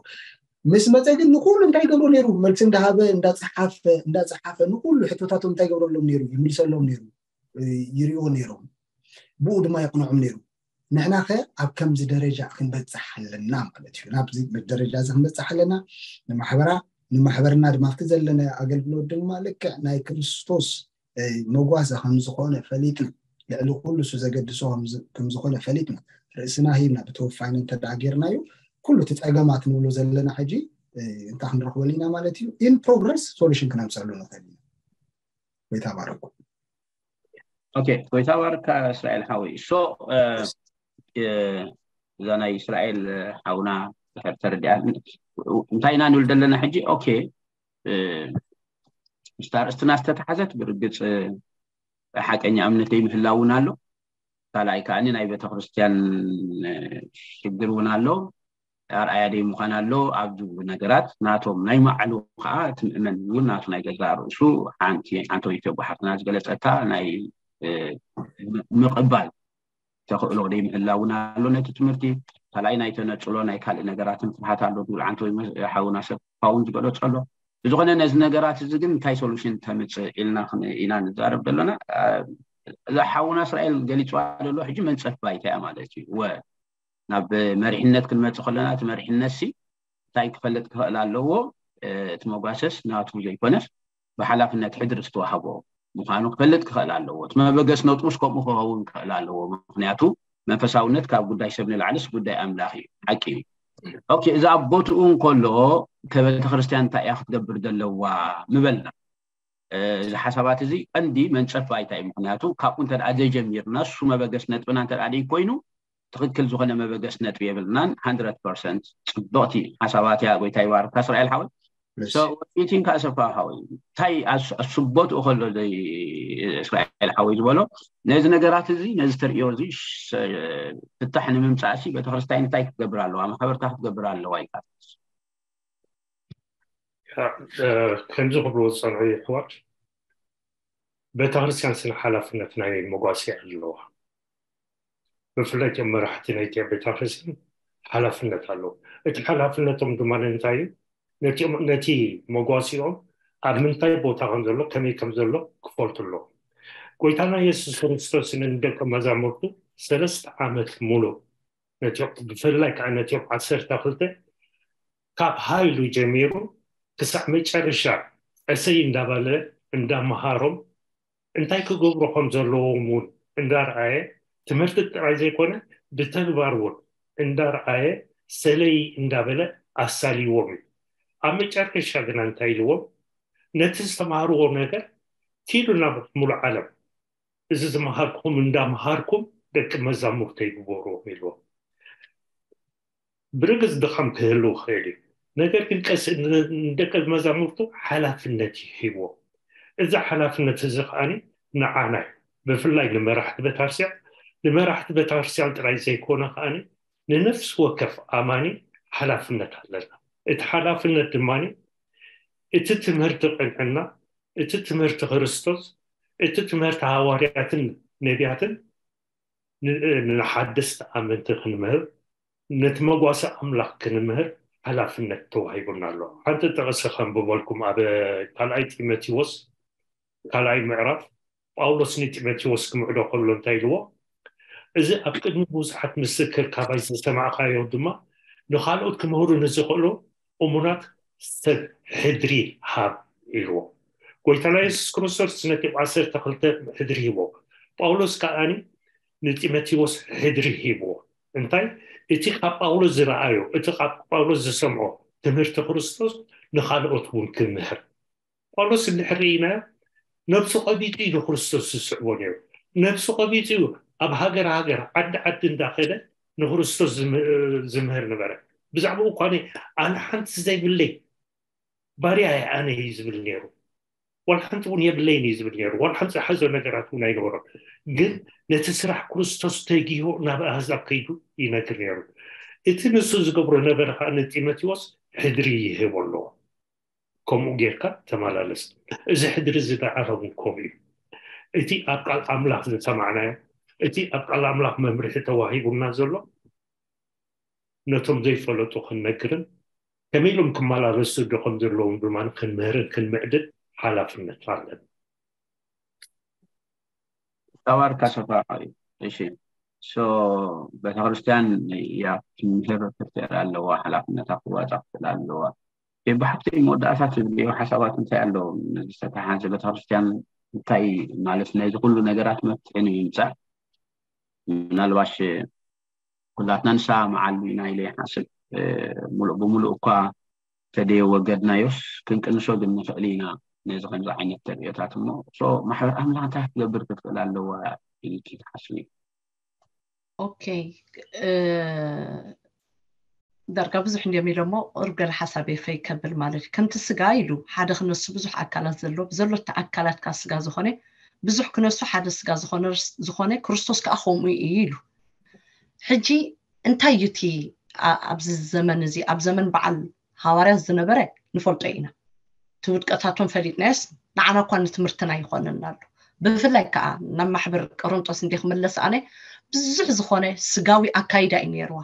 ምስ መፀ ግን ንኩሉ እንታይ ይገብሮ ነይሩ? መልሲ እንዳሃበ እንዳፀሓፈ እንዳፀሓፈ ንኩሉ ሕቶታቶም እንታይ ይገብረሎም ነይሩ? ይምልሰሎም ነይሩ፣ ይሪኦ ነይሮም፣ ብኡ ድማ የቕንዖም ነይሩ። ንሕና ከ ኣብ ከምዚ ደረጃ ክንበፅሕ ኣለና ማለት እዩ። ናብዚ ደረጃ እዚ ክንበፅሕ ኣለና። ንማሕበራ ንማሕበርና ድማ ኣብቲ ዘለና ኣገልግሎት ድማ ልክዕ ናይ ክርስቶስ መጓሰ ከም ዝኾነ ፈሊጥና፣ ልዕሊ ኩሉ እሱ ዘገድሶ ከም ዝኾነ ፈሊጥና፣ ርእስና ሂብና ብተወፋይነት እንተ ደኣ ጌርናዮ፣ ኩሉ እቲ ፀገማት ንብሎ ዘለና ሕጂ እንታይ ክንረኽበሉ ኢና ማለት እዩ? ኢን ፕሮግረስ ሶሉሽን ክነምፀሉ ንኽእል ኢና። ጎይታ ባረኩም። ኦኬ፣ ጎይታ ባርካ እስራኤል ሓወይ። ሶ እዛ ናይ እስራኤል ሓውና ድሕር ተረዲኣ እንታይ ኢና ንብል ዘለና ሕጂ? ኦኬ፣ ምስታ ርእስትና ዝተተሓዘት ብርግፅ ሓቀኛ እምነት ዘይምህላው እውን ኣሎ። ካልኣይ ከዓኒ ናይ ቤተክርስትያን ሽግር እውን ኣሎ። ኣርኣያ ደይ ምዃን ኣሎ ኣብ ዝብሉ ነገራት ናቶም ናይ ማዕሉ ከዓ እቲ ምእመን እውን ናቱ ናይ ገዛእ ርእሱ ሓንቲ ሓንተዊት ኣቦ ሓፍትና ዝገለፀታ ናይ ምቕባል ተኽእሎ ደይ ምህላው እውን ኣሎ ነቲ ትምህርቲ። ካልኣይ ናይ ተነፅሎ ናይ ካልእ ነገራትን ፍርሃት ኣሎ ዝብል ዓንተዊ ሓውና ሰፋ እውን ዝገለፆ ኣሎ። ብዝኾነ ነዚ ነገራት እዚ ግን እንታይ ሶሉሽን ተምፅእ ኢልና ኢና ንዛረብ ዘለና። እዛ ሓውና እስራኤል ገሊፅዋ ዘሎ ሕጂ መንፀፍ ባይታ እያ ማለት እዩ። ወ ናብ መሪሕነት ክንመፅእ ከለና እቲ መሪሕነት ሲ እንታይ ክፈልጥ ክኽእል ኣለዎ? እቲ መጓሰስ ናቱ ዘይኮነስ ብሓላፍነት ሕድሪ ዝተዋህቦ ምዃኑ ክፈልጥ ክኽእል ኣለዎ። እቲ መበገስ ነጥቡስ ከምኡ ክኸውን ክኽእል ኣለዎ። ምክንያቱ መንፈሳውነት ካብ ጉዳይ ሰብ ንላዕልስ ጉዳይ ኣምላኽ እዩ። ሓቂ እዩ። ኦኬ፣ እዚ ኣብ ቦትኡ እንከሎ ከቤተክርስትያን እንታይ እያ ክትገብር ዘለዋ ምበልና። እዚ ሓሳባት እዚ ቀንዲ መንፀፍ ባይታ እዩ። ምክንያቱ ካብኡ እንተ ደኣ ዘይጀሚርና እሱ መበገስ ነጥብና እንተ ደኣ ኮይኑ ትኽክል ዝኾነ መበገስ ነጥቢ የብልናን። ሃንድረድ ፐርሰንት ፅብቕቲ ሓሳባት እያ። ጎይታ ይባርካ እስራኤል ሓወይ። ቲንክ ኣሰፋ ሓወይ እንታይ ኣስቦትኡ ከሎ እስራኤል ሓወይ ዝበሎ ነዚ ነገራት እዚ ነዚ ተርእዮ እዚ ፍታሕ ንምምፃእ ሲ ቤተክርስትያን እንታይ ክትገብር ኣለዋ? ማሕበርታ ክትገብር ኣለዋ ኢልካ ከምዚ ክብሉ ዝፀንሑ ይሕዋት ቤተክርስትያን ስነ ሓላፍነት ናይ መጓሲ ኣለዋ። ብፍላይ እቶም መራሕቲ ናይ ቤተክርስትያን ሓላፍነት ኣለዎ። እቲ ሓላፍነቶም ድማ እንታይ እዩ? ነቲ መጓሲኦም ኣብ ምንታይ ቦታ ከም ዘሎ ከመይ ከም ዘሎ ክፈልጡ ኣለዎም። ጎይታና የሱስ ክርስቶስ ንደቀ መዛሙርቱ ሰለስተ ዓመት ሙሉእ ነቲ ብፍላይ ከዓ ነቲ ዓሰርተ ክልተ ካብ ሃይሉ ጀሚሩ ክሳዕ መጨረሻ ቀሰይ እንዳበለ እንዳመሃሮም እንታይ ክገብሩ ከም ዘለዎም እውን እንዳርኣየ ትምህርቲ ጥራይ ዘይኮነ ብተግባር እውን እንዳርኣየ ሰለይ እንዳበለ ኣሳልይዎም እዩ። ኣብ መጨረሻ ግና እንታይ ኢልዎም? ነቲ ዝተማሃርዎ ነገር ኪዱ ናብ ሙሉእ ዓለም እዚ ዝመሃርኩም እንዳመሃርኩም ደቂ መዛሙርተይ ግበርዎም ኢልዎም። ብርግጽ ድኻም ክህልው ይኽእል እዩ። ነገር ግን ቀስ ንደቂ መዛሙርቱ ሓላፍነት እዩ ሂብዎ። እዚ ሓላፍነት እዚ ከዓኒ ንዓናይ ብፍላይ ንመራሕቲ ቤተክርስትያን ንመራሕቲ ቤተክርስትያን ጥራይ ዘይኮነ ከዓኒ ንነፍሲ ወከፍ ኣማኒ ሓላፍነት ኣለና። እቲ ሓላፍነት ድማ እቲ ትምህርቲ ቅንዕና፣ እቲ ትምህርቲ ክርስቶስ፣ እቲ ትምህርቲ ሃዋርያትን ነቢያትን ንሓደስቲ ኣመንቲ ክንምህር፣ ነቲ መጓሰ ኣምላኽ ክንምህር ሓላፍነት ተዋሂቡና ኣሎ። ሓንቲ ጥቕሲ ከንብበልኩም፣ ኣብ ካልኣይ ጢሞቴዎስ ካልኣይ ምዕራፍ ጳውሎስ ንጢሞቴዎስ ክምዕዶ ከሎ እንታይ ኢልዎ? እዚ ኣብ ቅድሚ ብዙሓት ምስክር ካባይ ዝሰማዕካዮ ድማ ንኻልኦት ክምህሩ ንዝኽእሉ እሙናት ሰብ ሕድሪ ሃብ ኢልዎ። ጎይታና የሱስ ክርስቶስ ነቲ ዓሰርተ ክልተ ሕድሪ ሂቦ። ጳውሎስ ከዓኒ ንጢሞቴዎስ ሕድሪ ሂብዎ። እንታይ? እቲ ካብ ጳውሎስ ዝረኣዮ፣ እቲ ካብ ጳውሎስ ዝሰምዖ ትምህርቲ ክርስቶስ ንኻልኦት እውን ክምህር። ጳውሎስ እንድሕር ርኢናዮ፣ ነብሱ ቀቢጡ እዩ ንክርስቶስ ዝስዕቦ ነይሩ። ነብሱ ቀቢጡ እዩ ኣብ ሃገር ሃገር፣ ዓዲ ዓዲ እንዳኸደ ንክርስቶስ ዝም- ዝምህር ነበረ። ብዛዕባኡ እኳ ኣነ ሓንቲ ዘይብለይ ባርያ እየ ኣነ እዩ ዝብል ነይሩ። ዋላ ሓንቲ እውን የብለይን እዩ ዝብል ነይሩ። ዋላ ሓንቲ ዝሓዞ ነገራት እውን ኣይነበሮን። ግን ነቲ ስራሕ ክርስቶስ ተጊሁ ናብ ኣህዛብ ከይዱ ይነግር ነይሩ። እቲ ንሱ ዝገብሮ ነበረ ከዓ ንጢሞቴዎስ ሕድሪ ይህቦ ኣለዎ። ከምኡ ጌርካ ተመላለስ። እዚ ሕድሪ እዚ ንዓና እውን ከምኡ እዩ። እቲ ኣብ ቃል ኣምላኽ ዝሰማዕናዮ፣ እቲ ኣብ ቃል ኣምላኽ መምርሒ ተዋሂቡና ዘሎ ነቶም ዘይፈለጡ ክንነግርን ከመይ ኢሎም ክመላለሱ ዶ ከም ዘለዎም ድማ ክንምህርን ክንምዕድን ሓላፍነት ኣለና። ተባርካ ሰፋ እዩ። እሺ፣ ሶ ቤተክርስትያን ያ ትምህር ክትር ኣለዋ፣ ሓላፍነታ ክዋፃ ክትል ኣለዋ። ብሓፍቲ መወዳእታ ትብልዮ ሓሳባት እንታይ ኣለዎም? ዝተተሓዘ ቤተክርስትያን እንታይ ማለት ናይዚ ኩሉ ነገራት መፍትሒ ንምምፃእ ምናልባሽ ኩላትና ንሰማማዓሉ ኢና ኢለ ይሓስብ። ሙሉእ ብሙሉእ እኳ ተደየወገድናዮስ ክንቅንሶ ግን ንኽእል ኢና። ነዚ ከምዚ ዓይነት ተርእዮታት እሞ ማሕበር ኣምላኽ እንታይ ክትገብር ክትኽእል ኣለዋ ኢልኪ ትሓስቢ? ኦኬ፣ ዳርጋ ብዙሕ እንዲዮም ኢሎሞ ቁሩብ ገለ ሓሳብ የፈይ ከብል ማለት እዩ። ከምቲ ስጋ ኢሉ ሓደ ክነሱ ብዙሕ ኣካላት ዘሎ ብዘሎ እቲ ኣካላት ካብ ስጋ ዝኾነ ብዙሕ ክነሱ ሓደ ስጋ ዝኾነ ክርስቶስ ከዓ ከምኡ እዩ ኢሉ። ሕጂ እንታይ እዩ እቲ ኣብዚ ዘመን እዚ ኣብ ዘመን በዓል ሃዋርያት ዝነበረ ንፈልጦ ኢና። እቲ ውድቀታቶም ፈሊጥናዮስ ንዓና እኳ ንትምህርትና ይኾነና ኣሎ። ብፍላይ ከዓ ናብ ማሕበር ቆሮንጦስ እንዲ ክምለስ ኣነ ብዙሕ ዝኾነ ስጋዊ ኣካይዳ እዩ ነይርዋ።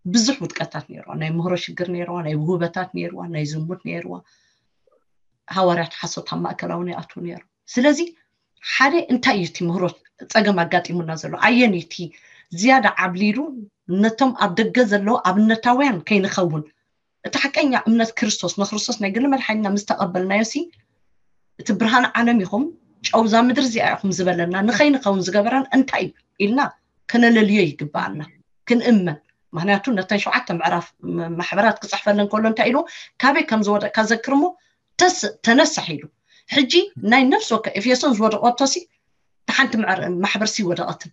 ብዙሕ ውድቀታት ነይርዋ። ናይ ምህሮ ሽግር ነይርዋ፣ ናይ ውህበታት ነይርዋ፣ ናይ ዝሙት ነይርዋ። ሃዋርያት ሓሶት ኣብ ማእከላዊ ይኣትዉ ነይሩ። ስለዚ ሓደ እንታይ እዩ እቲ ምህሮ ፀገም ኣጋጢሙና ዘሎ? ኣየን እዩ እቲ ዝያዳ ዓብሊሉ ነቶም ኣብ ደገ ዘለዉ ኣብነታውያን ከይንኸውን እቲ ሓቀኛ እምነት ክርስቶስ ንክርስቶስ ናይ ግሊ መድሓኒና ምስ ተቐበልናዮ ሲ እቲ ብርሃን ዓለም ኢኹም ጨውዛ ምድሪ እዚኣ ኢኹም ዝበለና ንኸይንኸውን ዝገበረን እንታይ እዩ ኢልና ክነለልዮ ይግበኣና ክንእመን። ምክንያቱ ነተን ሸውዓተ ምዕራፍ ማሕበራት ክፅሕፈለን ከሎ እንታይ ኢሉ ካበይ ከም ዝወደቅካ ዘክርሞ ተነሳሕ ኢሉ። ሕጂ ናይ ነፍሲ ወከ ኤፌሶን ዝወደቀቶ ሲ ሓንቲ ማሕበር ሲ ወደቀትን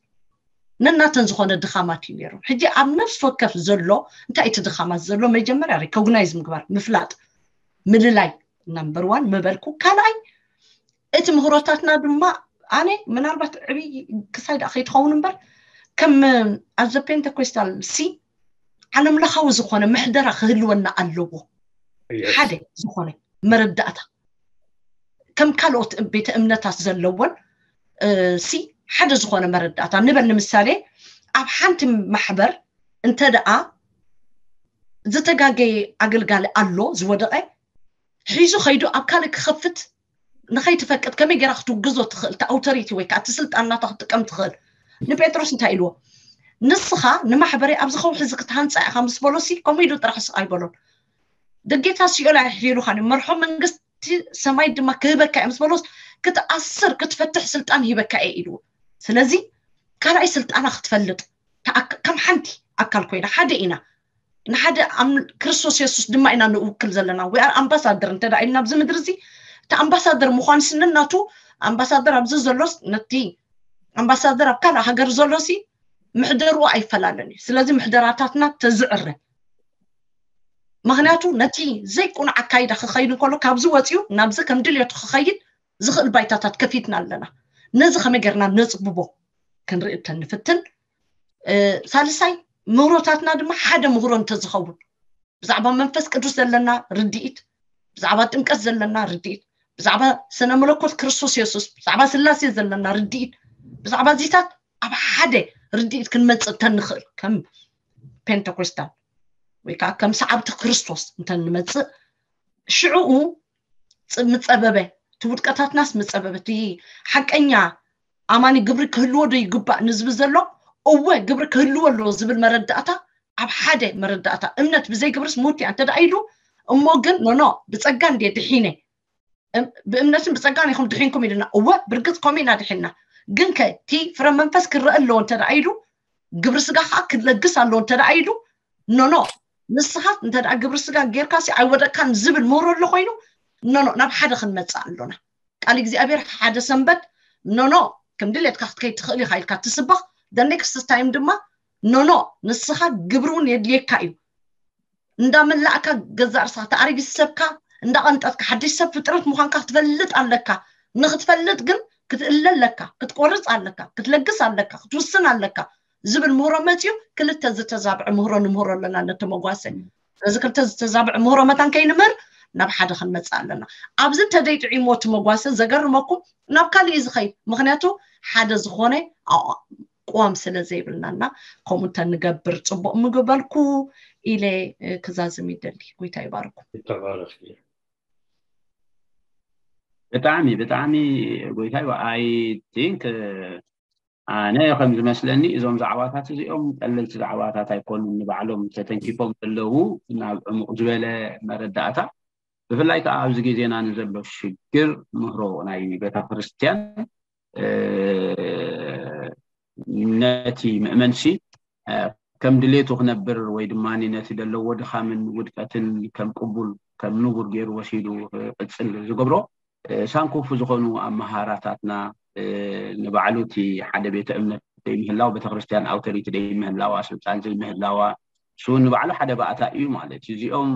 ነናተን ዝኾነ ድኻማት እዩ ነይሩ። ሕጂ ኣብ ነፍሲ ወከፍ ዘሎ እንታይ እቲ ድኻማት ዘሎ መጀመርያ ሪኮግናይዝ ምግባር ምፍላጥ ምልላይ ናምበር ዋን ምበልኩ። ካልኣይ እቲ ምህሮታትና ድማ ኣነ ምናልባት ዕብይ ክሳይ ደኣ ከይትኸውን እምበር ከም ኣብ ዘ ፔንቴኮስታል ሲ ዓለም ለኻዊ ዝኾነ ምሕደራ ክህልወና ኣለዎ። ሓደ ዝኾነ መረዳእታ ከም ካልኦት ቤተ እምነታት ዘለዎን ሲ ሓደ ዝኾነ መረዳእታ ንበል። ንምሳሌ ኣብ ሓንቲ ማሕበር እንተ ደኣ ዝተጋገየ ኣገልጋሊ ኣሎ ዝወደቐ ሒዙ ከይዱ ኣብ ካልእ ክኸፍት ንኸይትፈቅድ ከመይ ገይራ ክትውግዞ ትኽእል? እቲ ኣውቶሪቲ ወይ ከዓ እቲ ስልጣን ናታ ክትጥቀም ትኽእል? ንጴጥሮስ እንታይ ኢልዎ? ንስኻ ንማሕበረይ ኣብዚ ከውሒ እዚ ክትሃንፃ ኢኻ ምስ በሎሲ ከምኡ ኢሉ ጥራሕ ስቕ ኣይበሎን። ደጌታ ሲኦል ኣየሕይሉኻን እዮም፣ መርሖ መንግስቲ ሰማይ ድማ ክህበካ እዮም ምስ በሎስ ክትኣስር ክትፈትሕ ስልጣን ሂበካ እየ ኢልዎ። ስለዚ ካልኣይ ስልጣና ክትፈልጥ ከም ሓንቲ ኣካል ኮይና ሓደ ኢና ንሓደ ክርስቶስ የሱስ ድማ ኢና ንውክል ዘለና። We are ambassador እንተ ኢልና ኣብዚ ምድሪ እዚ እቲ ኣምባሳደር ምዃን ስንናቱ ኣምባሳደር ኣብዚ ዘሎስ ነቲ ኣምባሳደር ኣብ ካልእ ሃገር ዘሎሲ ምሕደርኡ ኣይፈላለን እዩ። ስለዚ ምሕደራታትና ተዝዕረ፣ ምክንያቱ ነቲ ዘይቁኑዕ ኣካይዳ ክኸይድ እንከሎ ካብዚ ወፂኡ ናብዚ ከም ድልየቱ ክኸይድ ዝኽእል ባይታታት ከፊትና ኣለና። ነዚ ከመይ ጌርና ነፅብቦ ክንርኢ እንተንፍትን፣ ሳልሳይ ምህሮታትና ድማ ሓደ ምህሮ እንተዝኸውን፣ ብዛዕባ መንፈስ ቅዱስ ዘለና ርድኢት፣ ብዛዕባ ጥምቀት ዘለና ርድኢት፣ ብዛዕባ ስነ መለኮት ክርስቶስ የሱስ፣ ብዛዕባ ስላሴ ዘለና ርድኢት፣ ብዛዕባ እዚታት ኣብ ሓደ ርድኢት ክንመፅእ እንተንኽእል ከም ፔንተኮስታል ወይ ከዓ ከም ሰዓብቲ ክርስቶስ እንተንመፅእ ሽዕኡ ምፀበበ፣ እቲ ውድቀታትናስ ምፀበበ፣ እቲ ሓቀኛ ኣማኒ ግብሪ ክህልዎ ዶ ይግባእ ንዝብል ዘሎ እወ ግብሪ ክህልዎ ኣለዎ ዝብል መረዳእታ ኣብ ሓደ መረዳእታ እምነት ብዘይ ግብርስ ሙት እያ እንተ ኢሉ እሞ ግን ኖኖ ብፀጋ እንደ ድሒነ ብእምነትን ብፀጋን ኢኹም ድሒንኩም ኢሉና። እወ ብርግፅ ከምኡ ኢና ድሒንና። ግን ከ እቲ ፍረ መንፈስ ክረአ ኣለዎ እንተ ኢሉ ግብሪ ስጋ ከዓ ክለግስ ኣለዎ እንተ ኢሉ ኖኖ ንስኻ እንተ ግብሪ ስጋ ጌርካ ሲ ኣይወደቅካን ዝብል ምህሮ ኣሎ ኮይኑ ኖኖ ናብ ሓደ ክንመፅእ ኣሎና። ቃል እግዚኣብሔር ሓደ ሰንበት ኖኖ ከም ድሌትካ ክትከይድ ትኽእል ኢኻ ኢልካ ትስበኽ። The next time ድማ ኖኖ ንስኻ ግብሪ እውን የድልየካ እዩ። እንዳመላእካ ገዛእ ርእስኻ ተኣረጊ ሰብካ እንዳቐንጠጥካ ሓድሽ ሰብ ፍጥረት ምዃንካ ክትፈልጥ ኣለካ። ንክትፈልጥ ግን ክትእለ ኣለካ፣ ክትቆርፅ ኣለካ፣ ክትለግስ ኣለካ፣ ክትውስን ኣለካ ዝብል ምህሮ መፅዩ ክልተ ዝተዛብዐ ምህሮ ንምህሮ ኣለና ነተመጓሰ። እዚ ክልተ ዝተዛብዐ ምህሮ መታን ከይንምህር ናብ ሓደ ክንመፅእ ኣለና። ኣብዚ እንተደይ ጥዒሞ እቲ መጓሰ ዘገርመኩም ናብ ካሊእ እዩ ዝኸይድ። ምክንያቱ ሓደ ዝኾነ ኣቋም ስለ ዘይብልና እና ከምኡ እንተንገብር ፅቡቕ ምግበልኩ ኢለ ክዛዝም ይደሊ። ጎይታ ይባርኩም። ብጣዕሚ ብጣዕሚ ጎይታ I think ኣነ ከም ዝመስለኒ እዞም ዛዕባታት እዚኦም ቀለልቲ ዛዕባታት ኣይኮኑን። ንባዕሎም ተተንኪፎም ዘለዉ ናብ ዕሙቕ ዝበለ መረዳእታ ብፍላይ ከዓ ኣብዚ ግዜና ንዘሎ ሽግር ምህሮ ናይ ቤተክርስትያን ነቲ ምእመንሲ ከም ድሌቱ ክነብር ወይ ድማ ነቲ ዘለዎ ድኻምን ውድቀትን ከም ቅቡል ከም ንቡር ገይሩ ወሲዱ ክቅፅል ዝገብሮ ሳንኮፉ ዝኾኑ ኣመሃራታትና ንባዕሉ እቲ ሓደ ቤተ እምነት ዘይምህላው ቤተክርስትያን ኣውቶሪቲ ዘይምህላዋ ስልጣን ዘይምህላዋ እሱ ንባዕሉ ሓደ ባእታ እዩ ማለት እዩ። እዚኦም